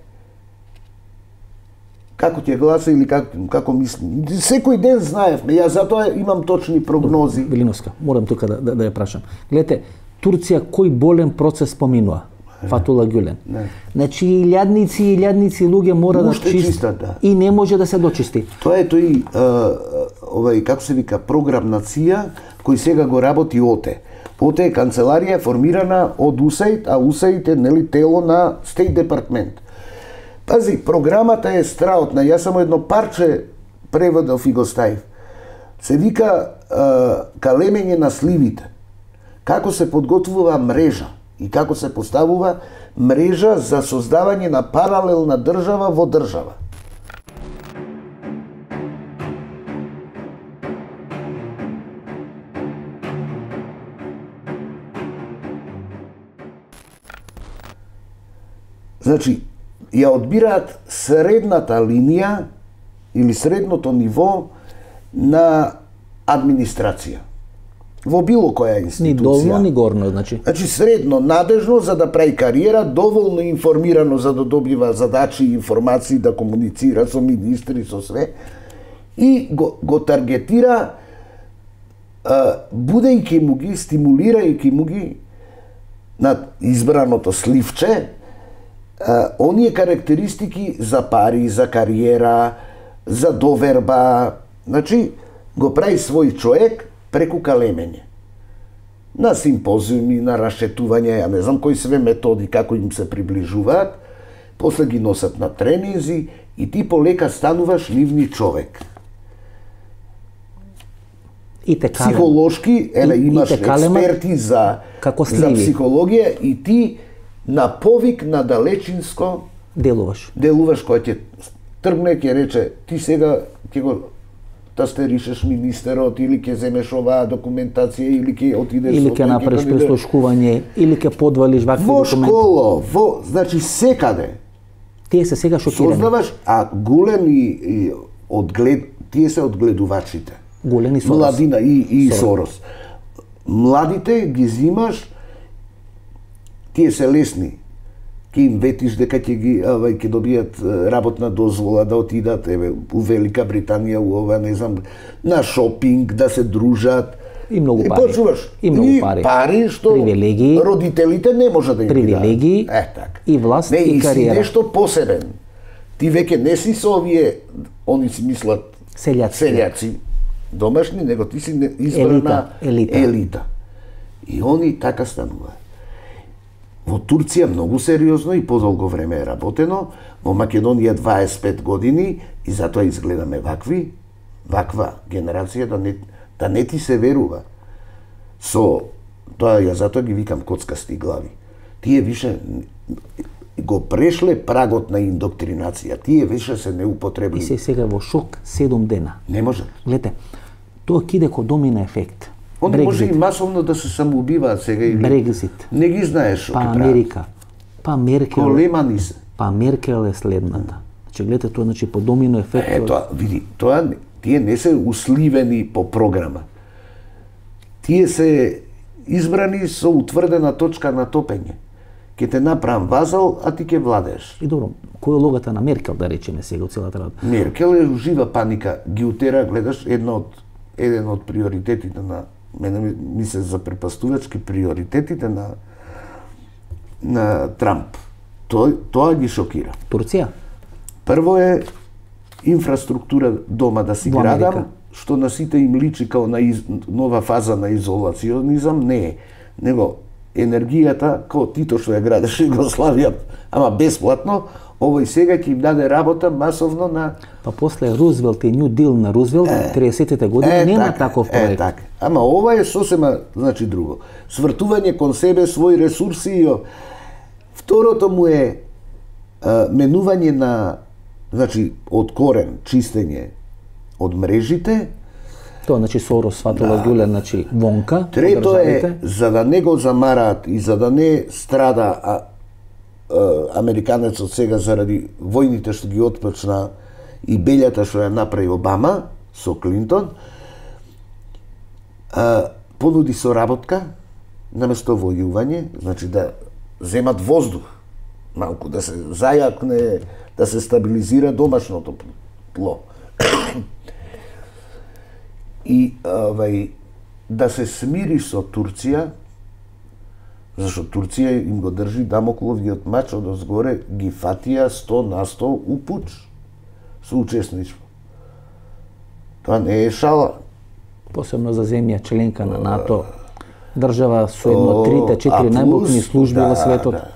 како ќе гласа или как, како мисли. Секој ден знаевме, ја затоа имам точни прогнози. Велиновска, морам тука да, да, да ја прашам. Гледате, Турција кој болен процес поминува? Фатула Гюлен. Не. Значи, илјадници и илјадници луѓе мора да чистат да. И не може да се дочисти. Тоа е тој, овај, како се вика, програм на ЦИА, кој сега го работи ОТЕ. ОТЕ е канцеларија формирана од УСАИД, а УСАИД е, нели, тело на Стейт Департмент. Пази, програмата е страотна, јас само едно парче преводов и го ставив. Се вика калемење на сливите. Како се подготвува мрежа и како се поставува мрежа за создавање на паралелна држава во држава. Значи, ја одбираат средната линија или средното ниво на администрација. Во било која институција. Ни долно, ни горно, значи. Значи, средно надежно за да прави кариера, доволно информирано за да добива задачи и информации, да комуницира со министри, со све, и го, го таргетира, а, будејќи му ги, стимулирајќи му ги на избраното сливче, а, оние карактеристики за пари, за кариера, за доверба. Значи, го прави свој човек преку калемење. На симпозиуми, на рашетување, ја не знам кои све методи, како им се приближуваат, после ги носат на тренинзи и ти полека стануваш нивни човек. И те калем. Психолошки, еле, имаш експерти за, за психологија и ти на повик, на далечинско делуваш. Делуваш, кој ќе тргне, ќе рече, ти сега ќе го тастеришеш министерот, или ќе земеш оваа документација, или ќе отидеш... Или ќе направиш преслушкување, или ќе подвалиш вакви документи. Во школа, во, значи секаде. Тие се сега шокирани. Сознаваш, а Гулен и, и одглед, тие се одгледувачите. Гулен и Сорос. Младина и, и Сорос. Сорос. Младите ги зимаш, тие се лесни. Ке им ветиш дека ќе ги авај ќе добијат работна дозвола да отидат еве у Велика Британија, у ова не знам, на шопинг, да се дружат. И многу пари. И почуваш. И многу пари. И пари што привилегии, родителите не може да им привилегии, е така. И власт не, и кариера. Не, и си нешто посебен. Ти веќе не си со овие, они си мислат селјаци. Селјаци домашни, него ти си избрана елита, елита. елита. И они така стануваат. Во Турција многу сериозно и подолго време е работено, во Македонија дваесет и пет години и затоа изгледаме вакви, ваква генерација да не, да не ти се верува. Со тоа ја затоа ги викам коцкасти глави. Тие више го прешле прагот на индоктринација, тие више се неупотребливи. И се сега во шок седум дена. Не може. Гледате, тоа киде ко домина ефект. Они може и масовно да се самоубиваат сега или... Брекзит. Не ги знаеш што па ќе Америка. Па Меркел. Колемани се. Па Меркел е следната. Значи гледате тоа, значи по домино ефект. Е, тоа, види, тоа тие не се усливени по програма. Тие се избрани со утврдена точка на топење. Ке те направам вазал, а ти ќе владееш. И добро, која е логата на Меркел, да речеме сега од целата работа? Меркел е жива паника, ги утера, гледаш, едно од еден од приоритетите на мене ми се запрепастувачки приоритетите на на Трамп. Тоа тоа ги шокира. Турција? Прво е инфраструктура дома да си градам, што на сите им личи као на из, нова фаза на изолационизам, не е. Него енергијата, као Тито што ја градеше Југославија, ама бесплатно, овој сега ќе им даде работа масовно на... Па после Рузвелт и Нью Дил на Рузвелт, триесеттите години, е, нема така, таков проект. Е, така. Ама ова е сосема, значи, друго. Свртување кон себе, своји ресурси и... Второто му е а, менување на, значи, од корен, чистење од мрежите, Тоа значи Сорос сватува да. Гюлен, значи вонка. Трето е, за да не го замараат и за да не страда а, а, американецот сега заради војните што ги отпочна и белјата што ја направи Обама со Клинтон, а, понуди соработка наместо војување, значи да земат воздух, малку да се зајакне, да се стабилизира домашното тло. И овај да се смири со Турција, зашто Турција им го држи Дамокловиот мач од озгоре, ги фатија сто на сто у пуч со учесничество. Тоа не е шала. Посебно за земја членка на НАТО, држава со едно трите четири најмокни служби да, во светот. Да.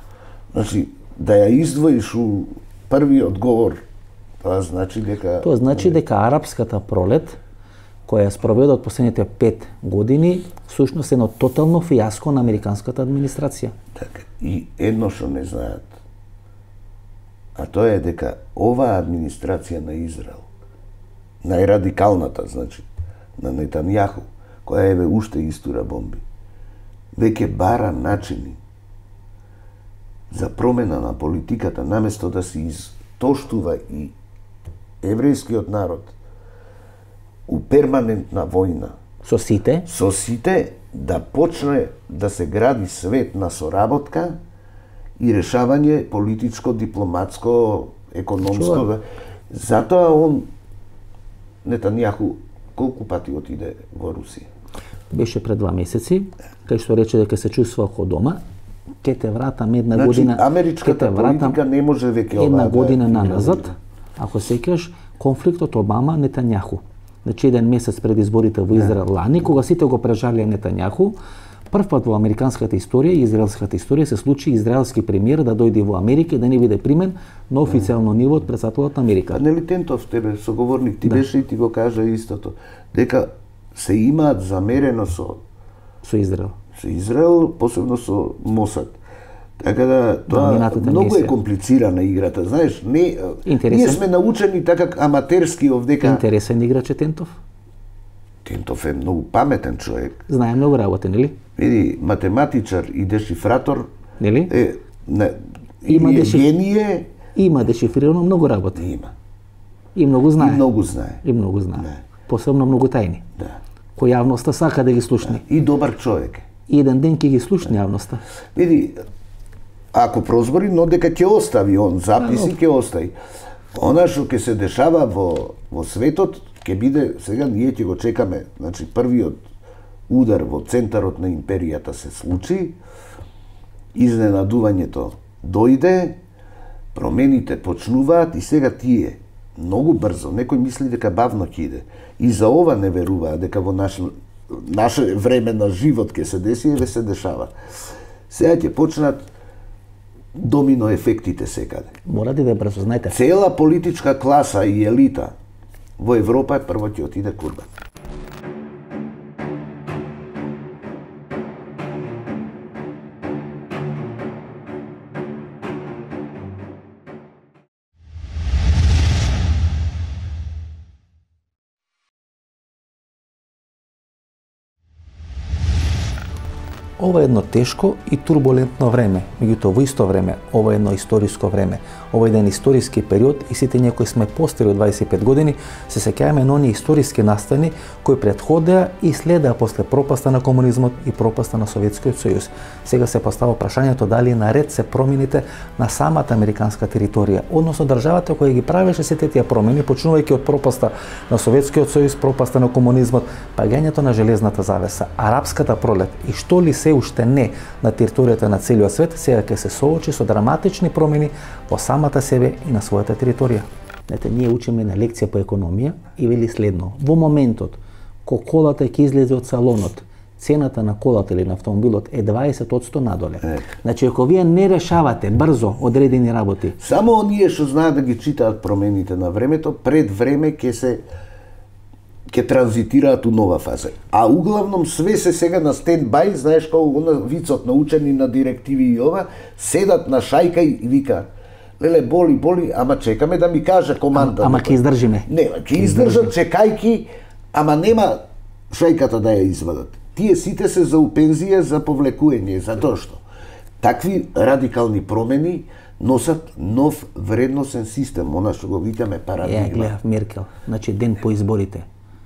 Значи, да ја издвоиш у првиот говор, тоа значи дека... Тоа значи дека арапската пролет, која ја спроведе од последните пет години, всушност е едно тотално фијаско на американската администрација. Така, и едно што не знаат, а тоа е дека оваа администрација на Израел, најрадикалната, значи, на Нетањаху, која еве уште истура бомби, веќе бара начини за промена на политиката, наместо да се изтоштува и еврејскиот народ у перманентна војна со сите, со сите да почне да се гради свет на соработка и решавање политичко, дипломатско, економско. Чува. Затоа он Нетањаху колку пати отиде во Русија? Беше пред два месеци, кај што рече дека се чувствува како дома. Ке те вратам една значи, година, америчката политика не може веќе ова една година да наназад. Ако сеќаш конфликтот Обама Нетањаху. Значи еден месец пред изборите во Израел лани, кога сите го прежалија Нетањаху, прв пат во американската историја и израелската историја се случи израелски премиер да дојде во Америка и да не биде примен на официјално ниво од претседателот на Америка. А нели Тентов тебе соговорник ти да. беше и ти го кажа истото, дека се имаат замерено со со Израел. Со Израел, посебно со Мосад. Така да тоа да, многу е комплицирана играта, знаеш, не Интересен. Ние сме научени така аматерски овдека. Интересен играч е Тентов. Тентов е многу паметен човек. Знае многу работи, нели? Види, математичар и дешифратор, нели? Е, не, има е дешиф... гение. Има дешифрирано многу работи. Има. И многу знае. И многу знае. И многу знае. Не. Посебно многу тајни. Да. Кој јавноста сака да ги слушне. Да. И добар човек. И еден ден ќе ги слушне јавноста. Види, ако прозбори, но дека ќе остави он записи, ќе остави. Она што ќе се дешава во во светот, ќе биде, сега ние ќе го чекаме, значи првиот удар во центарот на империјата се случи, изненадувањето дојде, промените почнуваат и сега тие многу брзо, некој мисли дека бавно ќе иде. И за ова не веруваа дека во наш наше време на живот ќе се деси, еве се дешава. Сега ќе почнат домино ефектите секаде. Мора да иде брзо, знаете. Цела политичка класа и елита во Европа прво ќе отиде курба. Ова е едно тешко и турбулентно време, меѓутоа во исто време ова е едно историско време. Ова е еден историски период и сите ние кои сме постари од дваесет и пет години се сеќаваме на оние историски настани кои претходеа и следеа после пропаста на комунизмот и пропаста на Советскиот сојуз. Сега се постава прашањето дали наред се промените на самата американска територија, односно државата која ги правеше сите тие промени, почнувајќи од пропаста на Советскиот сојуз, пропаста на комунизмот, паѓањето на железната завеса, арапската пролет и што ли се уште не на територијата на целиот свет, сега ќе се соочи со драматични промени во самата себе и на својата територија. Знаете, ние учиме на лекција по економија и вели следно: во моментот кога колата ќе излезе од салонот, цената на колата или на автомобилот е дваесет одсто надоле. Е. Значи, ако вие не решавате брзо одредени работи, само оние што знаат да ги читаат промените на времето, пред време ќе се ќе транзитираат у нова фаза. А углавном све се сега на стендбај, знаеш како она вицот научени на директиви и ова, седат на шајка и вика: леле, боли, боли, ама чекаме да ми каже команда. Ама ќе издржиме. Не, ќе издржат чекајки, ама нема шајката да ја извадат. Тие сите се за упензија за повлекување, затоа што такви радикални промени носат нов вредносен систем, она што го викаме парадигма. Ја гледав Меркел, значи ден по изборите.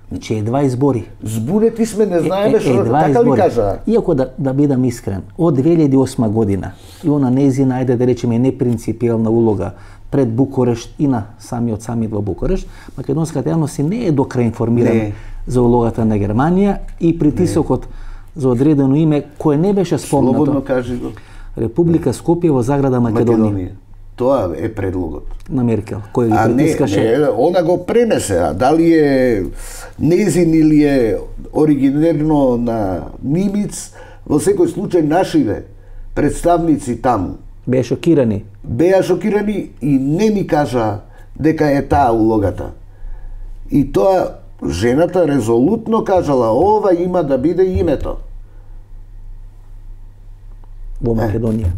Значи едва избори. Збунети сме, не знаеме е, што, така избори. ли кажа? Иако да, да бидам искрен, од две илјади и осма година и она незина, ајде да речеме, непринципиелна улога пред Букурешт и на самиот самит во Букурешт, македонската јавност не е до крај информирана за улогата на Германија и притисокот не. за одредено име кое не беше спомнато. Слободно кажи го. Република Скопје во заграда Македонија. Македонија. Тоа е предлогот на Меркел, кој ги а притискаше. Не, не, она го пренесе, а дали е незин или е оригинерно на Нимиц, во секој случај нашиве представници таму Беа шокирани. Беа шокирани и не ми кажа дека е таа улогата. И тоа жената резолутно кажала, ова има да биде името. Во Македонија.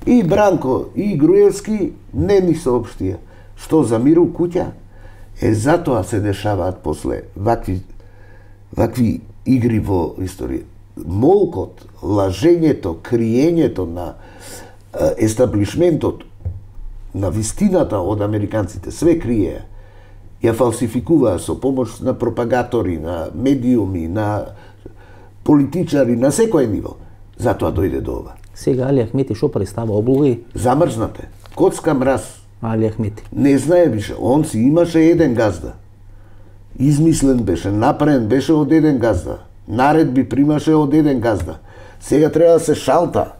И Бранко, и Груевски не ни соопштија што за мир у куќа. Е, затоа се дешаваат после вакви, вакви игри во историја. Молкот, лажењето, криењето на е, естаблишментот, на вистината од американците, све криеа. Ја фалсификуваа со помош на пропагатори, на медиуми, на политичари, на секој ниво. Затоа дојде до ова. Сега Али Ахмети шо представа облоги? Замрзнате. Коцка мраз. Али Ахмети. Не знае више, он си имаше еден газда. Измислен беше, направен беше од еден газда. Наредби примаше од еден газда. Сега треба да се шалта.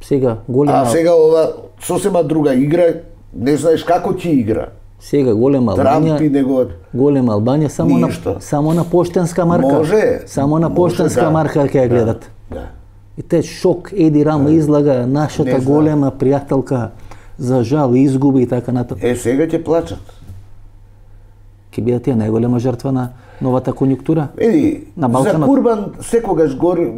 Сега голема... А сега ова сосема друга игра, не знаеш како ќе игра. Сега голема Албанија, Трамп и него... голема Албанија само Ништо. на само на поштенска марка. Може. Само на може, поштенска да. марка ќе ја гледат. Да. да. И те шок Еди Рама излага нашата голема пријателка за жал изгуби и така натаму. Е, сега ќе плачат. Ќе бидат тие најголема жртва на новата конјунктура. Еди, на за Балканот. Курбан секогаш гори,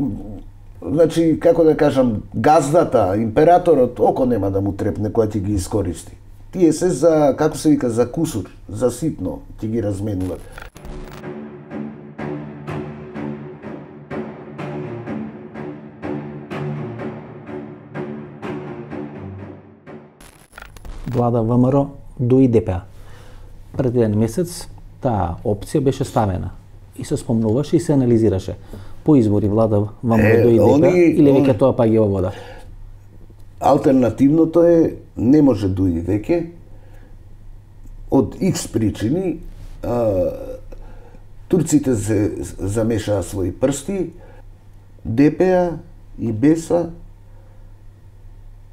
значи, како да кажам, газдата, императорот, око нема да му трепне кога ќе ги искористи. Тие се за, како се вика, за кусур, за ситно ќе ги разменуват. Влада ВМРО до и Д П А. Пред еден месец таа опција беше ставена и се спомнуваше и се анализираше. По избори влада ВМРО до и Д П А или веќе тоа паѓа во вода? Алтернативното е не може дуи веќе од икс причини. А, турците се замешаа своји прсти, Д П А и Б Е С А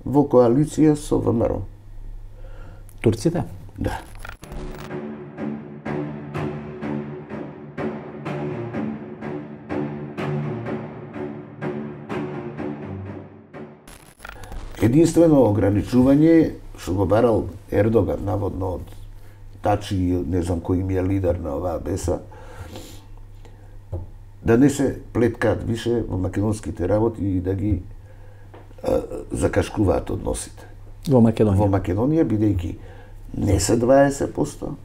во коалиција со ВМРО. Турците? Да. Единствено ограничување што го барал Ердоган наводно од Тачи и не знам кој ми е лидер на оваа Б Е С А, да не се плеткаат више во македонските работи и да ги а, закашкуваат односите. Во Македонија? Во Македонија, бидејќи не се дваесет проценти,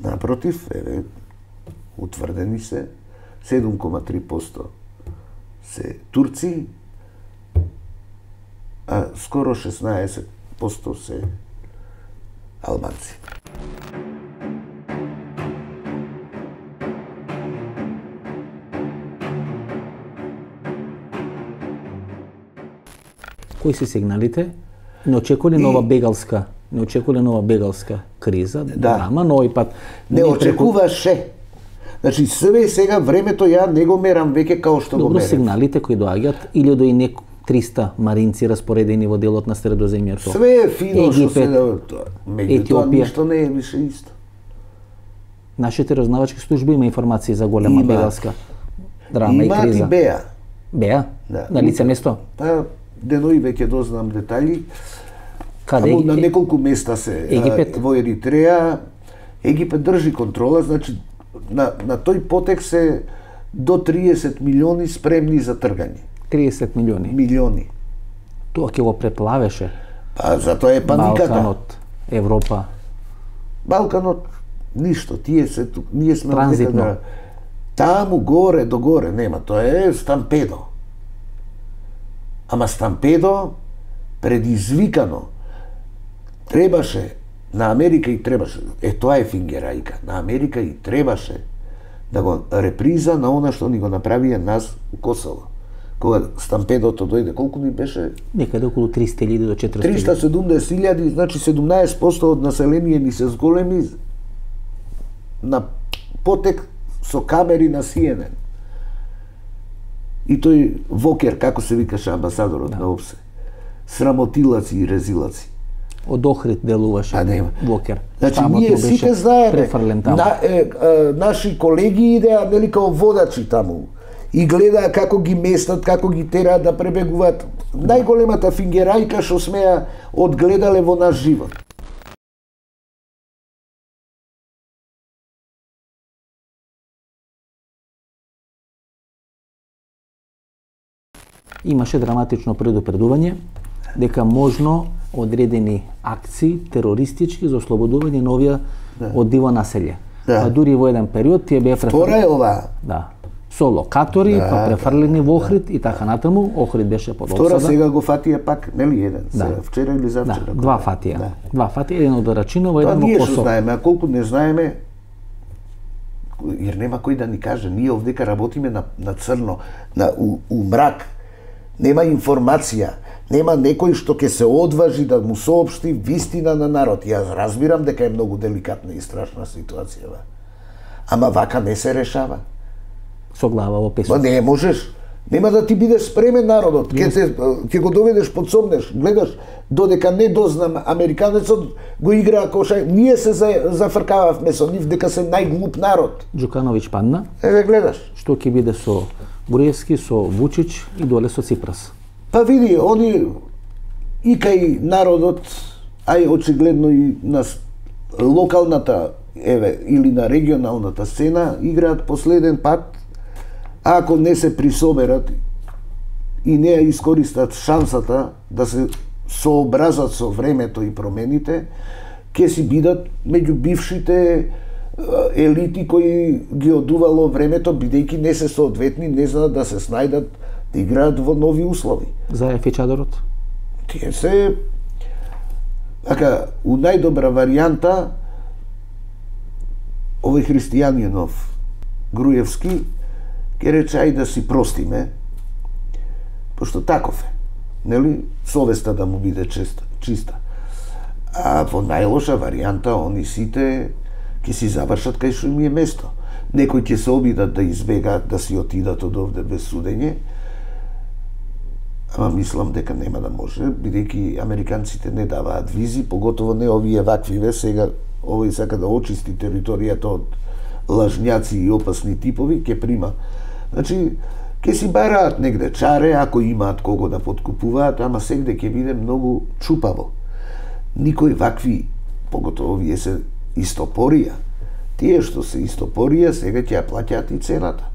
напротив, еве, утврдени се седум кома три проценти се турци, а скоро шеснаесет проценти се албанци. Кои се сигналите? Не очекува нова бегалска, не очекува нова бегалска криза, да. драма, но и пат не очекуваше. Значи све сега времето ја не го мерам веќе као што Добро, го мерам. сигналите кои доаѓаат или до и некој триста маринци распоредени во делот на Средоземјето. Све е фино што се Египет, меѓутоа Етиопија. ништо не е више исто. Нашите разузнавачки служби има информации за голема Има. бегалска драма и Имаат криза. и Беа. Беа? Да. На лице место? Па денови веќе дознам детали. Каде? Само на неколку места се. Египет? А, во Еритреја. Египет држи контрола, значи на, на тој потек се до триесет милиони спремни за тргање. триесет милиони. Милиони. Тоа ќе го преплавеше. Па затоа е паниката. Балканот, Европа. Балканот ништо, тие се тук, ние сме транзитно. Да, таму горе до горе нема, тоа е стампедо. Ама стампедо предизвикано требаше на Америка и требаше, е тоа е фингерајка, на Америка и требаше да го реприза на она што ни го направија нас у Косово. Кога стампедото дојде, колку ни беше? Некаде околу триста илјади до четиристотини. триста и седумдесет илјади, значи седумнаесет проценти од население ни се зголеми на потек со камери на Си Ен Ен. И тој Вокер, како се викаше амбасадорот да. на ОПСЕ, срамотилаци и резилаци. Од Охрид делуваше А нема. Вокер. Значи, Тамот ние сите знаеме, на, е, е, наши колеги идеа, нели, као водачи таму, и гледаа како ги местат, како ги тераат да пребегуваат. Најголемата фингерајка што смеа одгледале во наш живот. Имаше драматично предупредување дека можно одредени акции терористички за ослободување на овие да. од диво населје. Да. А дури во еден период тие беа префрлени. Втора е ова. Да. Со локатори, да, па префрлени во Охрид да. и така натаму. Охрид беше под обсада. Втора сега го фатија пак, нели еден? Да. Сега, вчера или завчера? Да, два фатија. Да. Два фатија, еден од Рачиново, еден во Косово. Косово. Ние што знаеме, а колку не знаеме, jer нема кој да ни каже, ние овдека работиме на, на црно, на, у, у мрак, нема информација, нема некој што ќе се одважи да му соопшти вистина на народ. Јас разбирам дека е многу деликатна и страшна ситуација, ама вака не се решава. Со глава во песот. Ба не можеш, нема да ти бидеш спремен народот, ќе те ќе го доведеш под сомнеш, гледаш, додека не дознам американецот го играа кошај, ние се за, зафркававме со нив дека се најглуп народ. Џукановиќ падна. Еве гледаш. Што ќе биде со Груевски, со Вучич и доле со Ципрас. Па види, они и кај народот, а и очигледно и на локалната, еве, или на регионалната сцена, играат последен пат, а ако не се присоберат и не ја искористат шансата да се сообразат со времето и промените, ќе си бидат меѓу бившите елити кои ги одувало времето, бидејќи не се соодветни, не знаат да се снајдат, да играат во нови услови. Заев и Чадорот? Тие се, ака, у најдобра варијанта, овој христијанинов Груевски ќе рече ај да си простиме, пошто таков е, нели, совеста да му биде чиста, чиста. А во најлоша варијанта, они сите ќе си завршат кај што им е место. Некои ќе се обидат да избегаат, да си отидат од овде без судење, ама мислам дека нема да може, бидејќи американците не даваат визи, поготово не овие ваквиве, сега овој сака да очисти територијата од лажњаци и опасни типови, ќе прима. Значи, ќе си бараат негде чаре, ако имаат кого да подкупуваат, ама сегде ќе биде многу чупаво. Никој вакви, поготово овие се истопорија, тие што се истопорија сега ќе ја плаќаат и цената.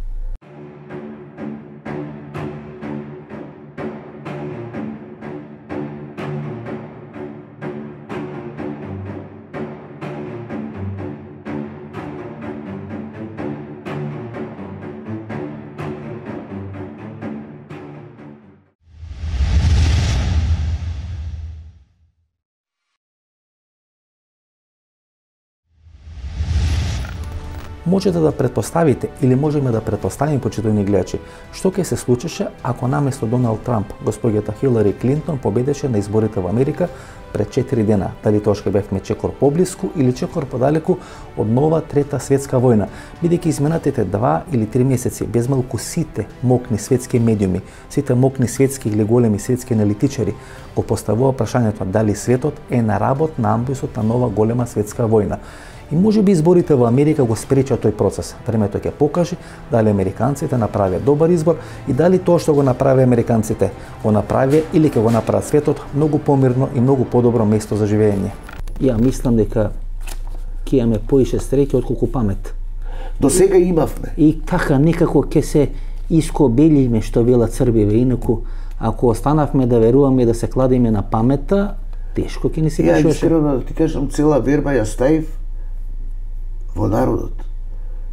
Можете да претпоставите или можеме да претпоставиме, почитувани гледачи, што ќе се случеше ако наместо Доналд Трамп, господјата Хилари Клинтон победеше на изборите во Америка пред четири дена. Дали тоа ќе бевме чекор поблиску или чекор подалеку од нова трета светска војна, бидејќи изминатите два или три месеци без малку сите мокни светски медиуми, сите мокни светски или големи светски аналитичари го поставува прашањето дали светот е на работ на амбисот на нова голема светска војна. И може би изборите во Америка го спречат тој процес. Времето ќе покаже дали американците направија добар избор и дали тоа што го направи американците го направи или ќе го направат светот многу помирно и многу подобро место за живење. Ја мислам дека ќе имаме поише среќа отколку памет. До сега имавме. И така некако ќе се искобелиме, што велат Србиве, инаку Ако останавме да веруваме и да се кладиме на паметта, тешко ќе ни се Ја пишуваше. искрено да ти кажам, цела верба ја ставив во народот.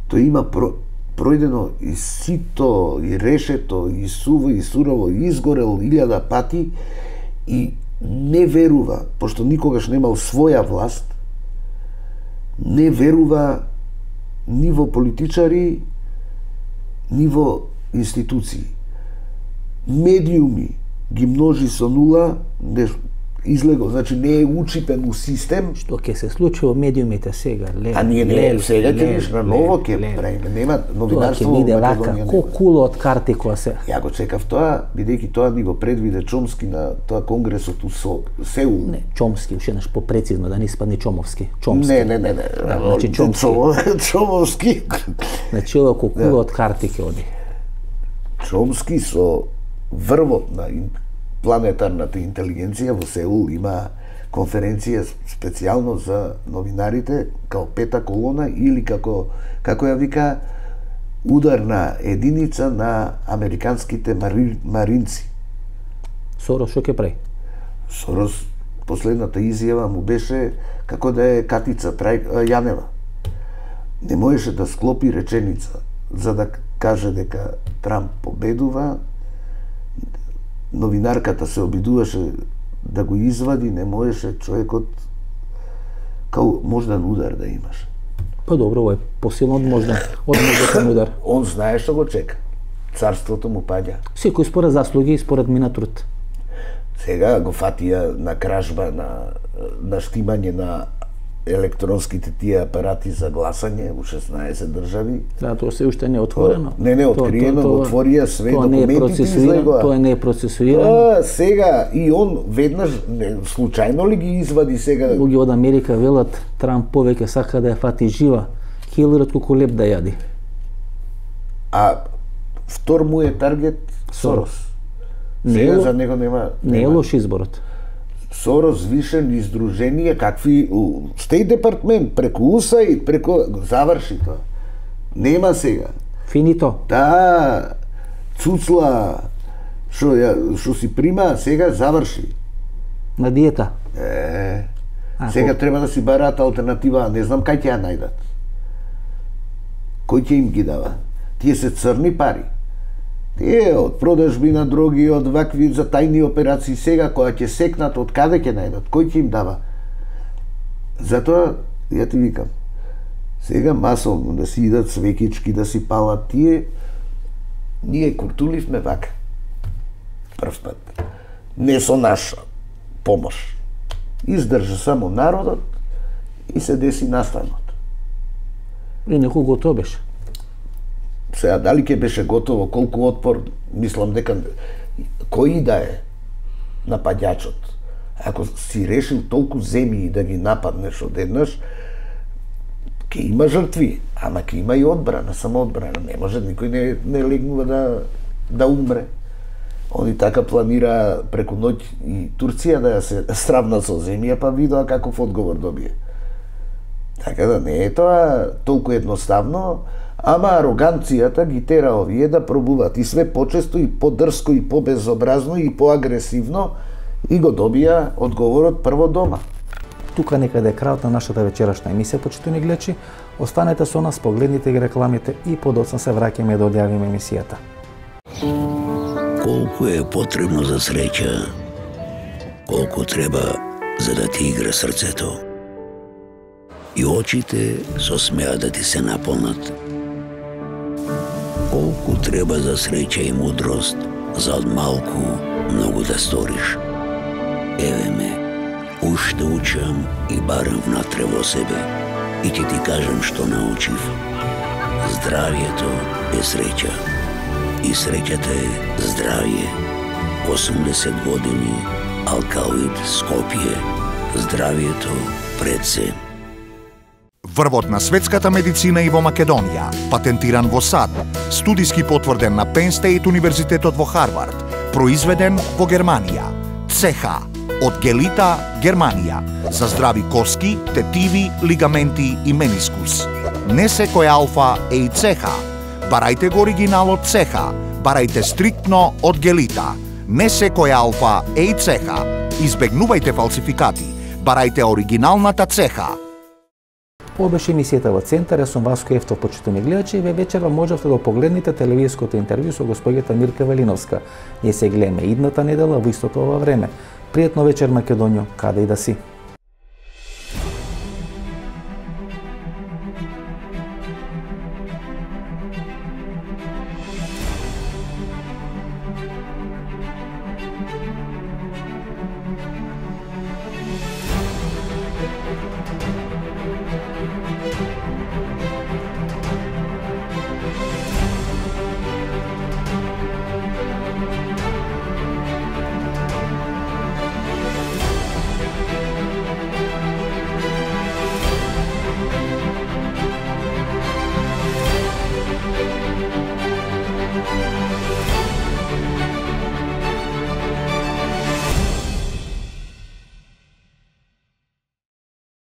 Тој има про, пројдено и сито, и решето, и суво, и сурово, и изгорел илјада пати и не верува, пошто никогаш немал своја власт, не верува ни во политичари, ни во институции. Медиуми ги множи со нула, не, излего, значи не е учипен у систем. Што ќе се случи во медиумите сега? Леле, А ние не, леле, сега ќе леле, ниш на леле, ново ќе леле. правиме. Нема Тоа новинарство ќе биде во вака, Македонија. ко нема. куло од карти која се. Ја го чекав тоа, бидејќи тоа ни го предвиде Чомски на тоа конгресот у Со- Сеул. Не, Чомски, уште еднаш попрецизно, да не испадне Чомовски. Чомски. Не, не, не, не. Да, значи Чомски. Чомо- Чомовски. Значи ова ко куло од карти ќе оди. Чомски со врвот на ин- планетарната интелигенција во Сеул има конференција специјално за новинарите, као пета колона или како како ја вика ударна единица на американските мари, маринци. Сорос што ќе прави? Сорос последната изјава му беше како да е Катица Трај, а, Јанева. Не можеше да склопи реченица за да каже дека Трамп победува. Новинарката се обидуваше да го извади, не можеше човекот као мождан удар да имаш. Па добро, ова е посилно од мождан, од мождан удар. Он знае што го чека. Царството му паѓа. Секој според заслуги и според мина труд. Сега го фатија на кражба, на, на штимање на електронските тие апарати за гласање у шеснаесет држави. Да, тоа се уште не е отворено. Не, не, откриено, го отворија све тоа не е документите процесуирано, излегоа. тоа не е процесуирано. А, сега, и он веднаш, не, случајно ли ги извади сега? Луѓе од Америка велат Трамп повеќе сака да ја фати жива Хилари отколку леп да јади. А втор му е таргет Сорос. Не Сега е, за него нема... не е нема. лош изборот. Сорос вишен издруженија, какви у Стейт департмент, преку ю ес ей, преку... Заврши тоа. Нема сега. Финито. Таа цуцла што ја што си прима, сега заврши. На диета. Е, А, сега ко- треба да си бараат алтернатива, а не знам кај ќе ја најдат. Кој ќе им ги дава? Тие се црни пари. Тие од продажби на дроги, од вакви за тајни операции, сега која ќе секнат, од каде ќе најдат? Кој ќе им дава? Затоа, ја ти викам, сега масовно да си идат свекички, да си палат тие, ние куртуливме вака. Прв пат. Не со наша помош. Издржа само народот и се деси настанот. И некој готов беше. Сега, дали ќе беше готово, колку отпор, мислам дека кој да е нападјачот, ако си решил толку земји да ги нападнеш одеднаш, ќе има жртви, ама ќе има и одбрана, самоодбрана. Не може, никој не, не легнува да, да умре. Они така планира преку ноќ и Турција да ја се сравна со земја, па видоа каков одговор добие. Така да не е тоа толку едноставно, ама ароганцијата ги тера овие да пробуваат и све почесто и подрско и побезобразно и поагресивно и го добија одговорот прво дома. Тука некаде е крајот на нашата вечерашна емисија, почитувани гледачи. Останете со нас, погледнете ги рекламите и подоцна се враќаме да одјавиме емисијата. Колку е потребно за среќа, колку треба за да ти игра срцето. И очите со смеа да ти се наполнат. Колку треба за среќа и мудрост, за од малку многу да сториш. Еве ме, уште учам и барам внатре во себе. И ќе ти кажам што научив. Здравието е среќа. И среќата е здравје. осумдесет години, Алкалоид, Скопје. Здравието пред се. Врвот на светската медицина и во Македонија, патентиран во САД, студиски потврден на Penn State Универзитетот во Харвард, произведен во Германија. ЦЕХА од Гелита, Германија, за здрави коски, тетиви, лигаменти и менискус. Не секој алфа е и ЦЕХА. Барајте го оригиналот ЦЕХА, барајте стриктно од Гелита. Не секоја алфа е и цеха. Избегнувајте фалсификати. Барајте оригиналната цеха. Ова беше емисијата во Центар, јас сум Васко Ефтов, почитувани гледачи, и ве вечерва можевте да погледнете телевизиското интервју со госпоѓата Мирка Велиновска. Ние се гледаме идната недела во истото ова време. Пријатно вечер, Македонијо, каде и да си.